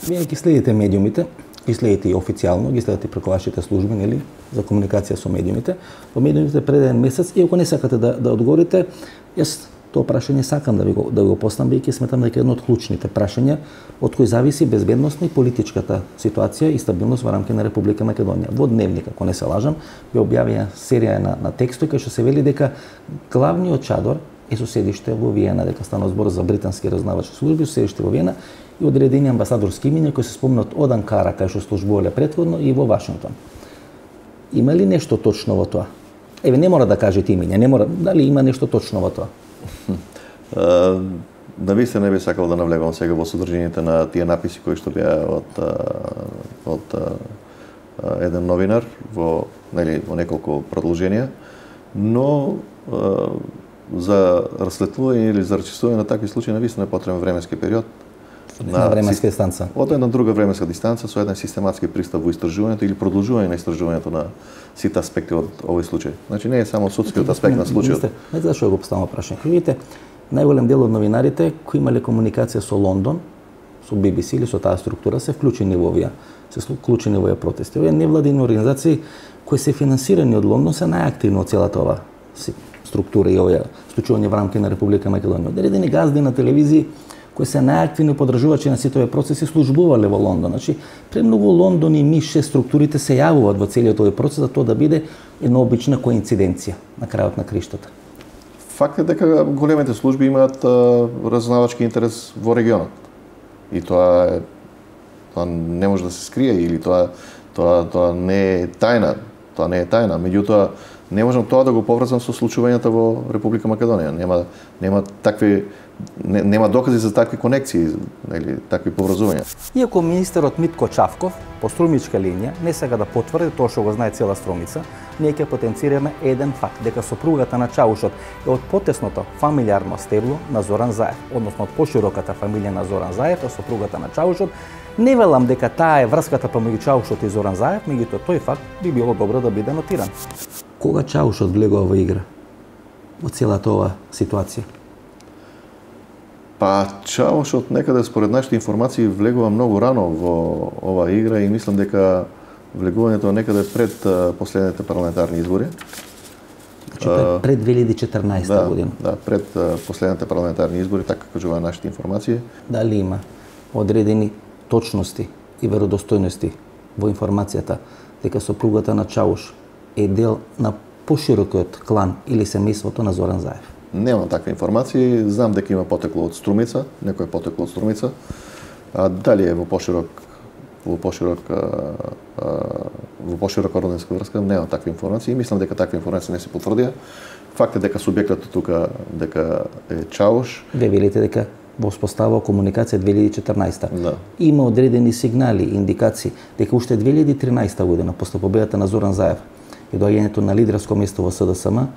Вие ги следите медиумите, ги следите и официјално, ги следите преку вашите служби, нели, за комуникација со медиумите. Во медиумите пред еден месец, и ако не сакате да, да одговорите, јас тоа прашање сакам да ви го, да го поставам, бидејќи сметам дека е едно од клучните прашања од кои зависи безбедноста и политичката ситуација и стабилност во рамки на Република Македонија. Во Дневник, ако не се лажам, ја објавија серија на, на текстови кај што се вели дека главниот чадор е со седиште во Виена, дека стана збор за британски разузнавачки служби со седиште во Виена и одредени амбасадорски имиња кои се спомнат од Анкара, кај што службувале претходно, и во Вашингтон. Има ли нешто точно во тоа? Еве, не мора да кажете имиња, не мора, дали има нешто точно во тоа? Да ви се не би сакал да навлегувам сега во содржините на тие написи кои што беа од од еден новинар во нели во неколку продолженија, но за расветлување или за рачистување на такви случаи навистина е потребен временски период. На временска дистанца. Од една друга временска дистанца со еден систематски пристап во истражувањето или продолжување на истражувањето на сите аспекти од овој случај. Значи не е само судскиот аспект на случајот. Не знам што го поставам прашање. Видите, најголем дел од новинарите кои имале комуникација со Лондон, со Би Би Си или со таа структура се вклучени во овие, се вклучени во овие протести. Овие невладини организации кои се финансирани од Лондон се најактивни од целата ова структура и овие случувања во рамки на Република Македонија. Одредени газди на телевизии кои се најактивни подржувачи на сите овие процеси службувале во Лондон. Значи, премногу Лондон и МИ-шест структурите се јавуваат во целиот овој процес за тоа да биде една обична коинциденција на крајот на криштата. Факт е дека големите служби имаат разузнавачки интерес во регионот. И тоа е тоа не може да се скрие или тоа тоа тоа не е тајна, тоа не е тајна. Меѓутоа не можам тоа да го поврзам со случувањата во Република Македонија. Нема нема такви не, нема докази за такви конекции, или такви поврзувања. Иако министерот Митко Чавков по струмичка линија не сега да потврди тоа што го знае цела Струмица, ние ќе потенцираме еден факт, дека сопругата на Чаушот е од потесното фамилиарно стебло на Зоран Заев, односно од пошироката фамилија на Зоран Заев, а сопругата на Чаушот. Не велам дека таа е врската помеѓу Чаушот и Зоран Заев, меѓутоа тој факт би било добро да биде нотиран. Кога Чаушот влегува во игра во целата ова ситуација? Па Чаушот некаде според нашите информации влегува многу рано во оваа игра и мислам дека влегувањето некаде пред последните парламентарни избори. Значи пред, пред две илјади и четрнаесета да, година. Да, пред последните парламентарни избори, така кажува нашите информации. Дали има одредени точности и веродостојности во информацијата дека сопругата на Чауш е дел на поширокиот клан или семејството на Зоран Заев? Немам такви информации, знам дека има потекло од Струмица, некој е потекло од Струмица. А дали е во поширок во поширок во поширока роднинска врска, немам такви информации и мислам дека такви информации не се потврдија. Факт е дека субјектот тука дека е Чауш. Ве велите дека во успостава комуникација две илјади и четрнаесета. Да. Има одредени сигнали, индикации дека уште две илјади и тринадесета година после победата на Зоран Заев и доаѓањето на лидерско место во С Д С М,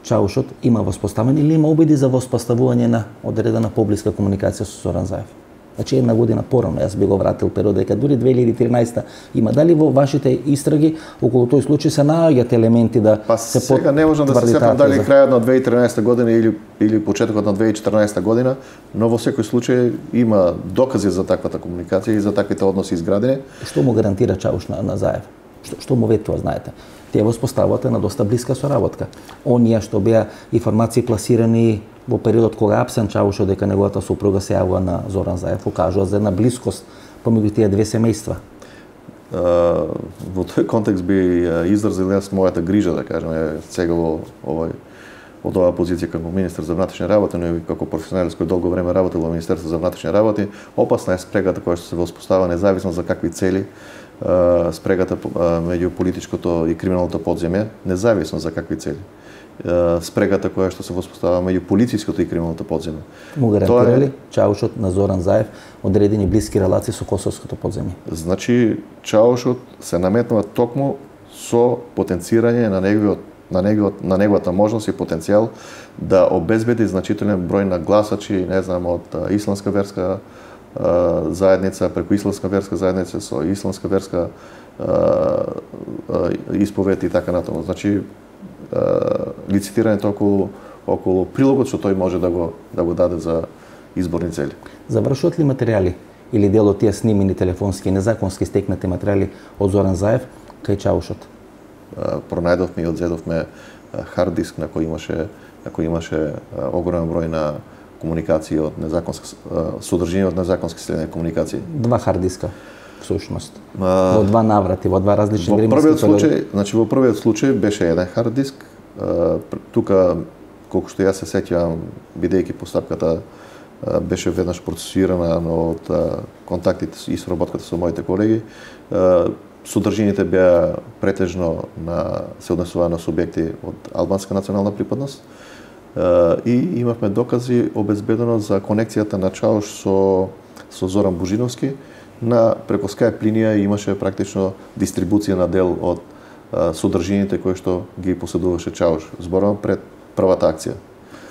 Чаушот има воспоставени или има обиди за воспоставување на одредена поблиска комуникација со Зоран Заев. Значи една година порано, јас би го вратил период дека дури две илјади и тринадесета има. Дали во вашите истраги околу тој случај се наоѓаат елементи да па, се сега не можам да се сетам дали крајот на две илјади и тринадесета година или или почетокот на две илјади и четрнаесета година, но во секој случај има докази за таквата комуникација и за таквите односи изградени. Што му гарантира Чауш на, на Заев? Што, што му ветува, знаете? Тие воспоставуваат на доста блиска соработка. Оние што беа информации пласирани во периодот кога апсен Чаушот дека неговата сопруга се јавува на Зоран Заев, покажува за една блискост помеѓу тие две семејства. Uh, во тој контекст би uh, изразил јас мојата грижа, да кажеме, сега во овој од оваа позиција како министер за внатрешни работи, но и како професионалист кој долго време работел во Министерство за внатрешни работи, опасна е спрегата која што се воспоставува независно за какви цели, спрегата меѓу политичкото и криминалното подземје, независно за какви цели. спрегата која што се воспоставува меѓу полициското и криминалното подземје. Му гарантира ли Чаушот на Зоран Заев одредени блиски релации со косовското подземје? Значи, Чаушот се наметнува токму со потенцирање на неговиот на неговиот на неговата можност и потенцијал да обезбеди значителен број на гласачи, не знам, од исламска верска а, заедница, преку исламска верска заедница со исламска верска а, а, исповед и така натаму. Значи, лицитирањето околу околу прилогот што тој може да го да го даде за изборни цели. Завршуваат ли материјали или дел од тие снимени телефонски незаконски стекнати материјали од Зоран Заев кај Чаушот? Пронајдовме и одзедовме хард диск на кој имаше на кој имаше огромен број на комуникации од незаконски содржина од незаконски следени комуникации. Два хард диска всушност. Во два наврати, во два различни временски. Во првиот случај, значи во првиот случај беше еден хард диск. Тука, колку што јас се сеќавам, бидејќи постапката беше веднаш процесуирана, но од контактите и соработката со моите колеги, содржините беа претежно на се однесува на субјекти од албанска национална припадност и имавме докази обезбедено за конекцијата на Чауш со со Зоран Божиновски. На преко Skype линија имаше практично дистрибуција на дел од а, содржините кои што ги поседуваше Чауш. Зборувам пред првата акција.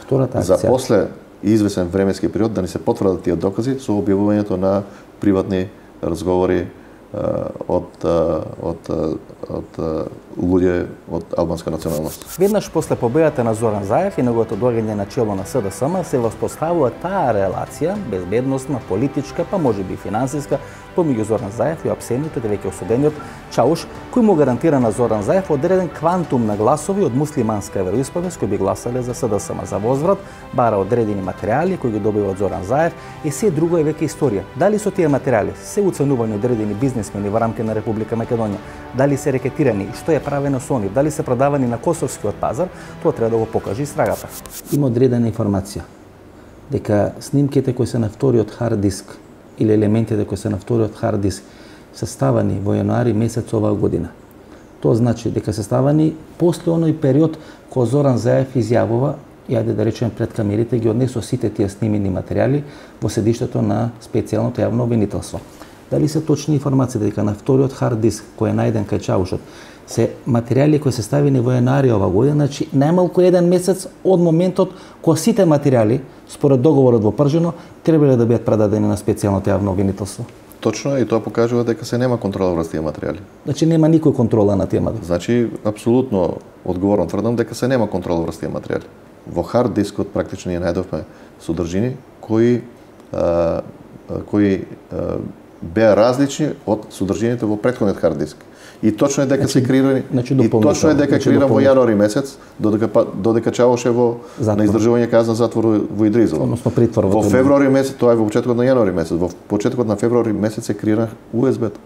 Втората акција. За после извесен временски период да ни се потврдат тие докази со објавувањето на приватни разговори а, од а, од од луѓе од албанска националност. Веднаш после победата на Зоран Заев и неговото доаѓање на чело на СДСМ се воспоставува таа релација, безбедносна, политичка, па можеби и финансиска, помеѓу Зоран Заев и апсениот, веќе осудениот Чауш, кој му гарантира на Зоран Заев одреден квантум на гласови од муслиманска вероисповест кои би гласале за СДСМ. За возврат бара одредени материјали кои ги добива од Зоран Заев и се друго е веќе историја. Дали со тие материјали се уценувани одредени бизнисмени во рамки на Република Македонија, дали се рекетирани и што е правено со нив, дали се продавани на косовскиот пазар, тоа треба да го покаже истрагата. Има одредена информација дека снимките кои се на вториот хард диск или елементите кои се на вториот хард диск се ставани во јануари месец оваа година. Тоа значи дека се ставани после оној период кога Зоран Заев изјавува, и ајде да речеме пред камерите, ги однесо сите тие снимени материјали во седиштето на специјалното јавно обвинителство. Дали се точни информации дека на вториот хард диск кој е најден кај Чаушот се материјали кои се ставени во јануари оваа година, значи најмалку еден месец од моментот кога сите материјали според договорот во Пржино требале да бидат предадени на специјалното јавно обвинителство. Точно, и тоа покажува дека се нема контрола врз тие материјали. Значи нема никој контрола на темата. Значи апсолутно одговорно тврдам дека се нема контрола врз тие материјали. Во хард дискот практично ние најдовме содржини кои а, кои а, беа различни од содржините во претходниот хард диск. И точно е дека значи, се креирани значи и точно е дека значи креиран во јануари месец, додека додека Чавош е во затвор. На издржување казна затвор во Идризово. Односно притвор во февруари месец, тоа е во почетокот на јануари месец, во почетокот на февруари месец се креира У Ес Б-то.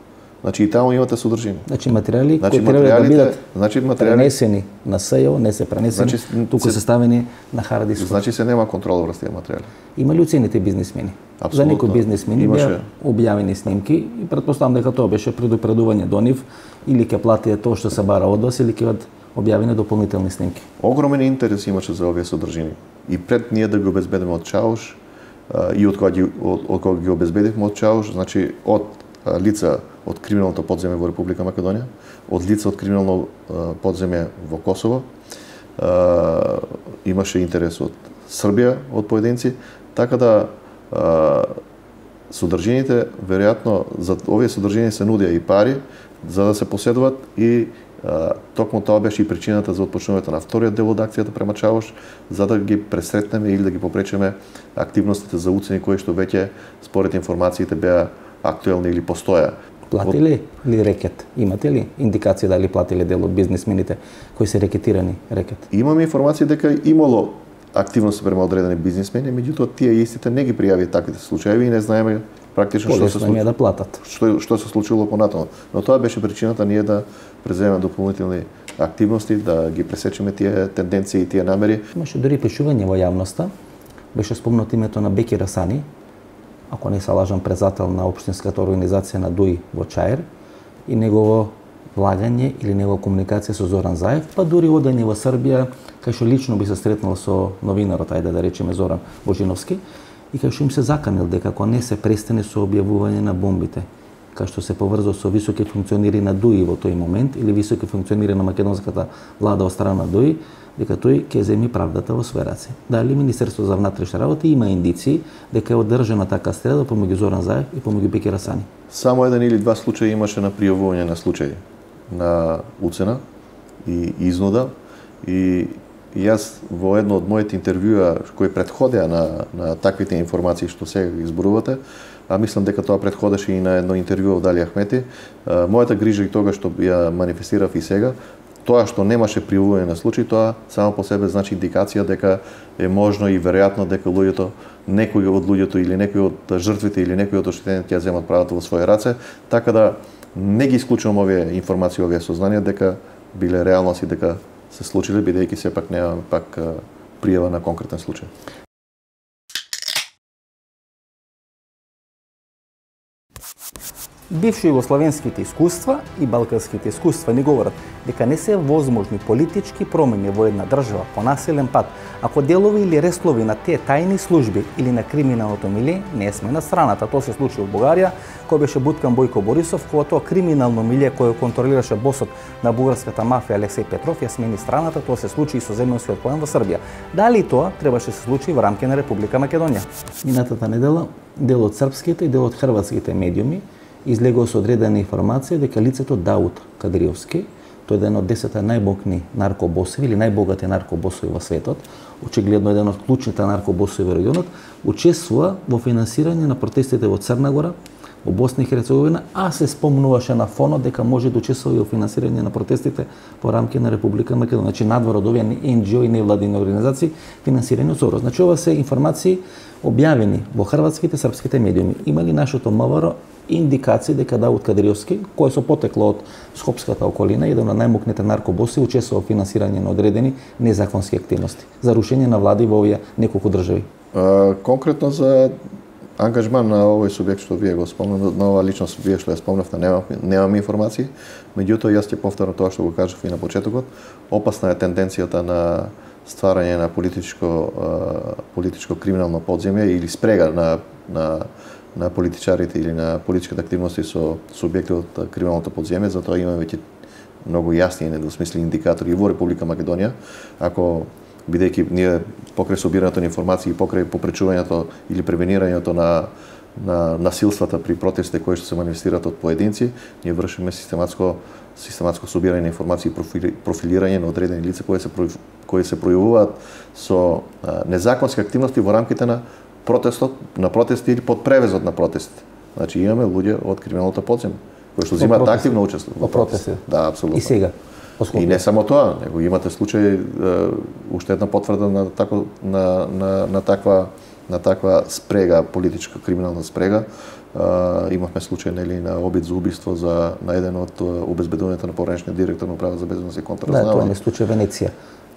Значи и таму имате содржини. Значи материјали значи, кои треба да бидат значи материјали пренесени на СЈО, не се пренесени, значи, туку се, се ставени на хард диск. Значи се нема контрола врз тие материјали. Има ли уцените бизнисмени? Апсолутно. За некои бизнисмени имаше беа објавени снимки и претпоставам дека тоа беше предупредување до нив или ќе платите тоа што се бара од вас или ќе бидат објавени дополнителни снимки. Огромен интерес имаше за овие содржини. И пред ние да ги обезбедиме од Чауш и од кога ги од, од кога ги обезбедивме од Чауш, значи од лица од криминалното подземје во Република Македонија, од лица од криминално подземје во Косово, имаше интерес од Србија, од поединци, така да содржините, веројатно, за овие содржини се нудија и пари за да се поседуваат и а, токму тоа беше и причината за отпочнувањето на вториот дел од акцијата према Чавош, за да ги пресретнеме или да ги попречеме активностите за уцени кои што веќе според информациите беа актуелни или постоја. Платили ли рекет? Имате ли индикација дали платиле дел од бизнисмените кои се рекетирани рекет? Имаме информација дека имало активности према одредени бизнисмени, меѓутоа тие истите не ги пријави таквите случаи и не знаеме практично што се случило. да платат. Што што се случило понатаму. Но тоа беше причината ние да преземеме дополнителни активности, да ги пресечеме тие тенденции и тие намери. Имаше дури пишување во јавноста. Беше спомнато името на Беки Расани, ако не се лажам, председател на општинската организација на ДУИ во Чаир, и негово влагање или негова комуникација со Зоран Заев, па дури одење во Србија, кај што лично би се сретнал со новинарот, ајде да речеме Зоран Божиновски, и кај што им се заканил дека ако не се престане со објавување на бомбите, кај што се поврзал со високи функционери на ДУИ во тој момент или високи функционери на македонската влада од страна на ДУИ, дека тој ќе земи правдата во свој раце. Дали Министерство за внатрешни работи има индиции дека е одржана така стрела помеѓу Зоран Заев и помеѓу Беки Расани? Само еден или два случаи имаше на пријавување на случаи на уцена и изнуда, и јас во едно од моите интервјуа кои претходеа на, на таквите информации што сега ги изборувате, а мислам дека тоа претходеше и на едно интервју од Али Ахмети, мојата грижа и тога што ја манифестирав и сега, тоа што немаше пријавување на случаи, тоа само по себе значи индикација дека е можно и веројатно дека луѓето, некои од луѓето или некои од жртвите или некои од оштетените ќе земат правото во своји раце, така да не ги исклучувам овие информации, овие сознанија дека биле реалност и дека се случиле, бидејќи сепак немаме пак пријава на конкретен случај. Бивши југословенските искуства и балканските искуства ни говорат дека не се возможни политички промени во една држава по насилен пат, ако делови или реслови на тие тајни служби или на криминалното милие не сме на страната. Тоа се случи во Бугарија, кој беше буткан Бојко Борисов, кога тоа криминално милие кој контролираше босот на бугарската мафија Алексеј Петров ја смени страната. Тоа се случи и со земјинскиот поен во Србија. Дали тоа требаше се случи во рамки на Република Македонија? Минатата недела дел од српските и дел од хрватските медиуми излегува со одредена информација дека лицето Дауд Кадриовски, тој е еден од десет најбогатни наркобосови или најбогати наркобосови во светот, очигледно еден од клучните наркобосови во регионот, учествува во финансирање на протестите во Црна Гора, во Босна и Херцеговина, а се спомнуваше на фонот дека може да учествува и во финансирање на протестите во рамки на Република Македонија. Значи надвор од овие ен џи о и невладини организации финансирани од Сорос. Значи ова се информации објавени во хрватските српските медиуми. Има ли нашето МВР индикации дека Дауд Кадриовски, кој со потекло од Скопската околина, еден од најмокните наркобоси, учествува во финансирање на одредени незаконски активности за рушење на влади во овие неколку држави? А, конкретно за ангажман на овој субјект што вие го спомнавте, на ова личност вие што ја спомнавте, немам, немам информации. Меѓутоа јас ќе повторам тоа што го кажав и на почетокот. Опасна е тенденцијата на стварање на политичко политичко криминално подземје или спрега на на на политичарите или на политичката активности со субјекти од криминалното подземје, затоа имаме веќе многу јасни и недвосмислени индикатори во Република Македонија. Ако бидејќи ние покрај собирањето на информации и покрај попречувањето или превенирањето на на насилствата при протестите кои што се манифестираат од поединци, ние вршиме систематско систематско собирање на информации и профилирање на одредени лица кои се кои се пројавуваат со незаконски активности во рамките на протестот, на протести или под превезот на протестите. Значи имаме луѓе од криминалното подземје кои што земаат активно учество во протести. Да, апсолутно. И сега. И не само тоа, него имате случај уште една потврда на тако на на на таква на таква спрега, политичка криминална спрега. Uh, имавме случај нели на обид за убиство за на еден од обезбедувањето на поранешниот директор на управа за безбедност и контраразузнавање. Да, тоа е случај Венеција.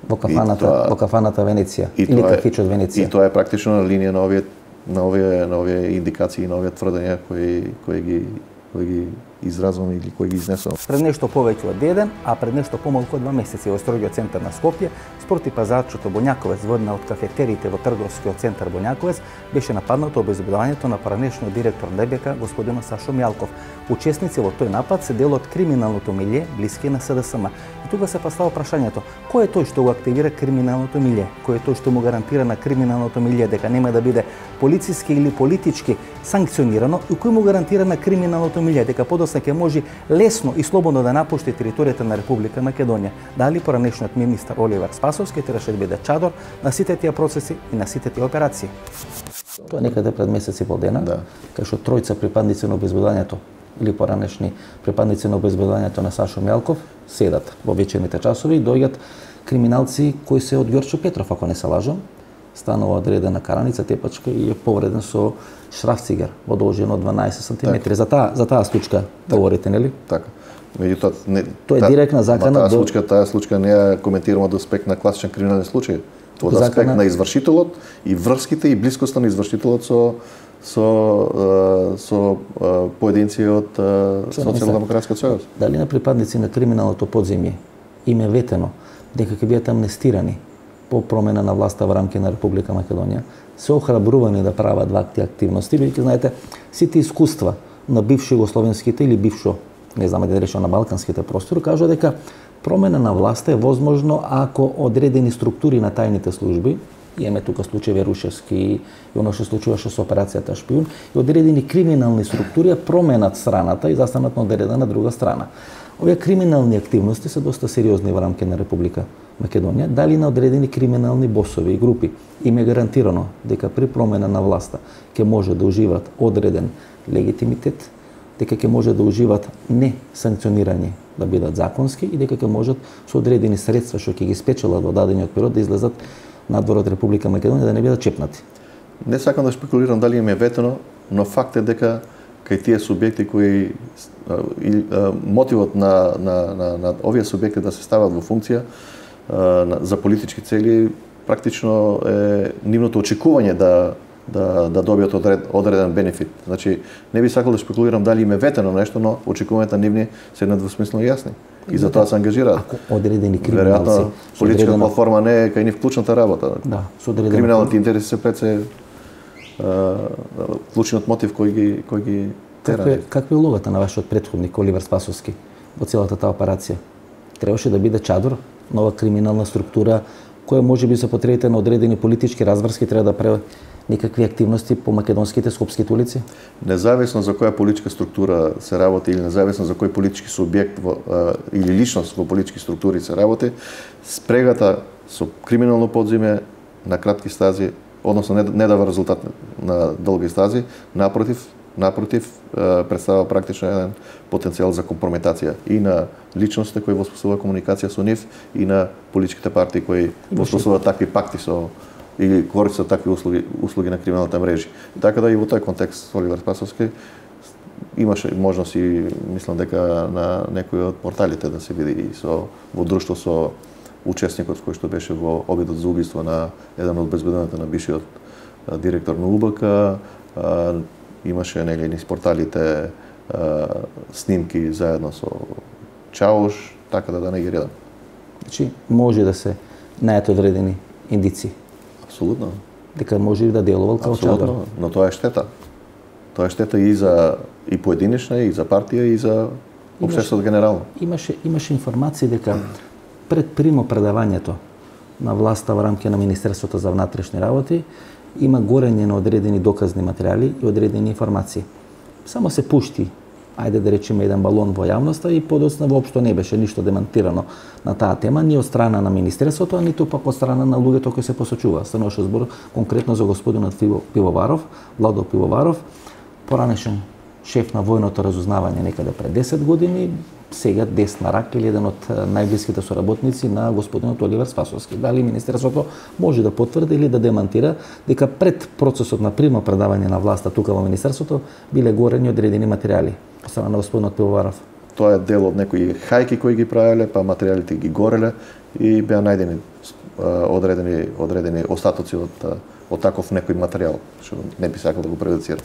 Во кафаната, тоа, во кафаната Венеција или кафичот Венеција. И тоа е практично на линија на овие на овие на овие индикации и на овие тврдења кои кои ги кои ги изразвам или кои ги изнесувам. Пред нешто повеќе од ден, а пред нешто помалку од два месеци во историскиот центар на Скопје, спорти пазарчето Боњаковец во една од кафетериите во трговскиот центар Боњаковец беше нападнато обезбедувањето на поранешниот директор на ДБК господинот Сашо Мјалков. Учесници во тој напад се дел од криминалното милје блиски на С Д С М. И тука се поставува прашањето: кој е тој што го активира криминалното милје? Кој е тој што му гарантира на криминалното милје дека нема да биде полициски или политички санкционирано и кој му гарантира на криминалното милје дека подоцна ќе може лесно и слободно да напушти територијата на Република Македонија? Дали поранешниот министар Оливер Спасовски требаше да биде чадор на сите тие процеси и на сите тие операции? Тоа некаде пред месец и пол дена, да. Кај што тројца припадници на обезбедувањето или поранешни припадници на обезбедувањето на Сашо Мјалков седат во вечерните часови и доаѓаат криминалци кои се од Ѓорчо Петров, ако не се лажам. Станува одредена караница, тепачка и е повреден со шрафцигер во должина од дванаесет сантиметри. За таа за таа случка говорите, нели? Така. Меѓутоа не тоа е директна закана таа случка, таа случка не ја коментираме од аспект на класичен криминален случај. Од аспект на извршителот и врските и блискоста на извршителот со со со поединци од Социјалдемократскиот сојуз. Дали на припадници на криминалното подземје им е ветено дека ќе бидат амнестирани по промена на власта во рамки на Република Македонија, се охрабрувани да прават вакви активности, бидејќи знаете сите искуства на бивши југословенските или бившо, не знаме да речеме, на балканските простори, кажува дека промена на власта е возможно ако одредени структури на тајните служби, имаме тука случај Рушевски и оно што случуваше со операцијата Шпион, и одредени криминални структури променат страната и застанат на одредена друга страна. Овие криминални активности се доста сериозни во рамки на Република Македонија, дали на одредени криминални босови и групи им е гарантирано дека при промена на власта ќе може да уживат одреден легитимитет, дека ќе може да уживат не санкционирани, да бидат законски и дека ќе можат со одредени средства што ќе ги спечелат во дадениот период да излезат надвор од Република Македонија, да не бидат чепнати. Не сакам да шпекулирам дали им е ветено, но факт е дека кај тие субјекти кои и мотивот на, на, на, на овие субјекти да се стават во функција за политички цели практично е нивното очекување да да да добијат одред, одреден бенефит. Значи не би сакал да шпекулирам дали им е ветено нешто, но очекувањата нивни се недвосмислено јасни. И затоа се ангажираат. Ако одредени криминалци, веројатно политичка одредено... платформа не е кај нив клучната работа. Да, со одредено... Криминалните интереси се пред се клучниот мотив кој ги кој ги тера. Каква е, каква е улогата на вашиот претходник Оливер Спасовски во целата таа операција? Требаше да биде чадор, нова криминална структура која можеби за потребите на одредени политички разврски треба да прави некакви активности по македонските скопските улици? Независно за која политичка структура се работи или независно за кој политички субјект во, а, или личност во политички структури се работи, спрегата со криминално подземје на кратки стази, односно не, не дава резултат на долги стази, напротив, напротив представува практично еден потенцијал за компрометација и на личностите кои воспоставуваат комуникација со нив и на политичките партии кои воспоставуваат такви пакти со или користат такви услуги, услуги на криминалните мрежи. Така да и во тој контекст Оливер Спасовски имаше можност и мислам дека на некои од порталите да се види и со во друштво со учесникот кој што беше во обидот за убиство на еден од безбедувањата на бившиот директор на У Б К, имаше нели низ порталите а, снимки заедно со Чауш, така да да не ги редам. Значи може да се најдат одредени индици. Апсолутно. Дека може да делувал како чадор. Но тоа е штета. Тоа е штета и за и поединечна, и за партија, и за општеството генерално. Имаше имаше информации дека пред примо предавањето на власта во рамки на Министерството за внатрешни работи има горење на одредени доказни материјали и одредени информации. Само се пушти, ајде да речеме, еден балон во јавноста и подоцна воопшто не беше ништо демантирано на таа тема, ни од страна на Министерството, а ниту пак од страна на луѓето кои се посочува. Стануваше збор конкретно за господинот Пивоваров, Владо Пивоваров, поранешен шеф на војното разузнавање некаде пред десет години, сега десна рака или еден од најблиските соработници на господинот Оливер Спасовски. Дали Министерството може да потврди или да демантира дека пред процесот на примо предавање на власта тука во Министерството биле горени одредени материјали од страна на господинот Пивоваров? Тоа е дел од некои хајки кои ги правеле, па материјалите ги гореле и беа најдени одредени одредени остатоци од од таков некој материјал, што не би сакал да го прejudicira.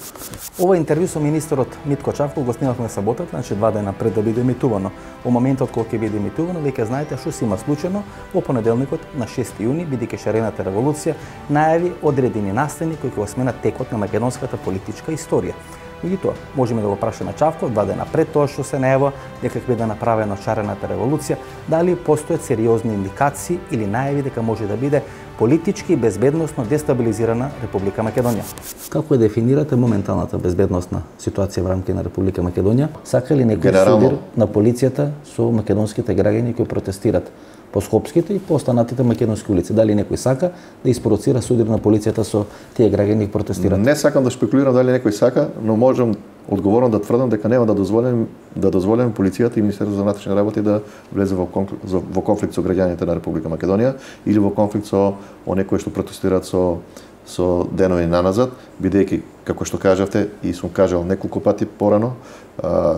Ова интервју со министерот Митко Чавков го снимавме саботата, значи два дена пред да биде емитувано. Во моментот кога ќе биде емитувано, веќе знаете што се има случено во понеделникот на шести јуни, бидејќи шарената револуција најави одредени настани кои ќе го сменат текот на македонската политичка историја. Меѓутоа, можеме да го прашаме Чавков два дена пред тоа што се најава дека ќе биде направена шарената револуција, дали постојат сериозни индикации или најави дека може да биде политички и безбедносно дестабилизирана Република Македонија. Како е дефинирате моменталната безбедносна ситуација во рамки на Република Македонија? Сака ли некој судир на полицијата со македонските граѓани кои протестират по скопските и по останатите македонски улици? Дали некој сака да испровоцира судир на полицијата со тие граѓани кои протестират? Не сакам да шпекулирам дали некој сака, но можам одговорно да тврдам дека нема да дозволим да дозволиме полицијата и Министерството за внатрешни работи да влезе во конфликт, во конфликт со граѓаните на Република Македонија или во конфликт со оние кои што протестираат со со денови наназад, бидејќи, како што кажавте, и сум кажал неколку пати порано,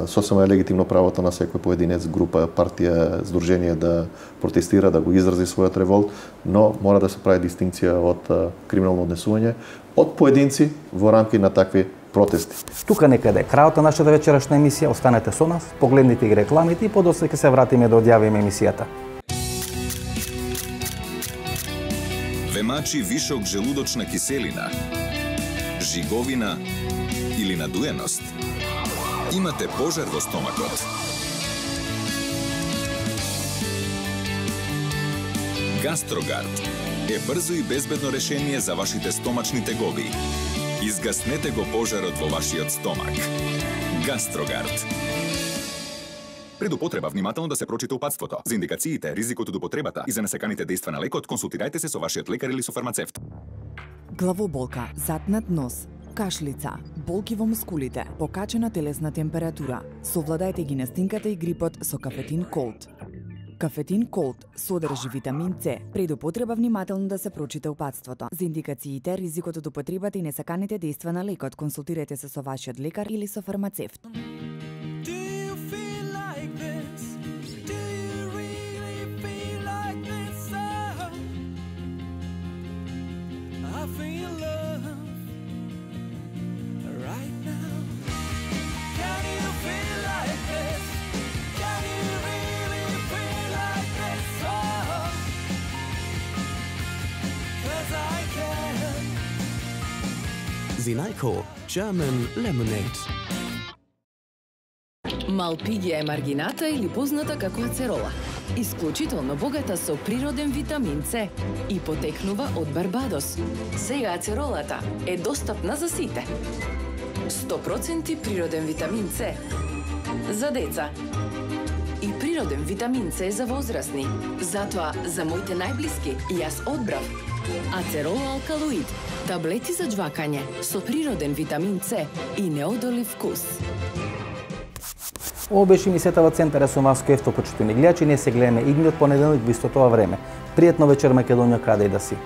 сосема е легитимно правото на секој поединец, група, партија, здружение да протестира, да го изрази својот револт, но мора да се прави дистинкција од криминално однесување од поединци во рамки на такви протести. Тука некаде е крајот на нашата вечерашна емисија. Останете со нас, погледнете ги рекламите и подоцна ќе се вратиме да одјавиме емисијата. Ве мачи вишок желудочна киселина, жиговина или надуеност? Имате пожар во стомакот? Гастрогард е брзо и безбедно решение за вашите стомачни тегови. Изгаснете го пожарот во вашиот стомак. Гастрогард. Пред употреба внимателно да се прочита упатството. За индикациите, ризикот од употребата и за несаканите дејства на лекот, консултирајте се со вашиот лекар или со фармацевт. Главоболка, затнат нос, кашлица, болки во мускулите, покачена телесна температура. Совладајте ги настинката и грипот со кафетин Колд. Кафетин Колд содржи витамин С. Пред употреба внимателно да се прочита упатството. За индикациите, ризикот од употребата и несаканите дејства на лекот, консултирајте се со вашиот лекар или со фармацевт. Zinalco German Lemonade. Малпигија е маргината или позната како ацерола. Исклучително богата со природен витамин С и потекнува од Барбадос. Сега ацеролата е достапна за сите. сто проценти природен витамин С за деца. И природен витамин С за возрастни. Затоа за моите најблиски јас одбрав Ацерола алкалоид, таблети за џвакање со природен витамин С и неодолив вкус. Ово беше емисијата во Центарот со вас, кој почитувани гледачи. Ние се гледаме идниот понеделник во исто тоа време. Пријатно вечер, Македонија, каде и да си.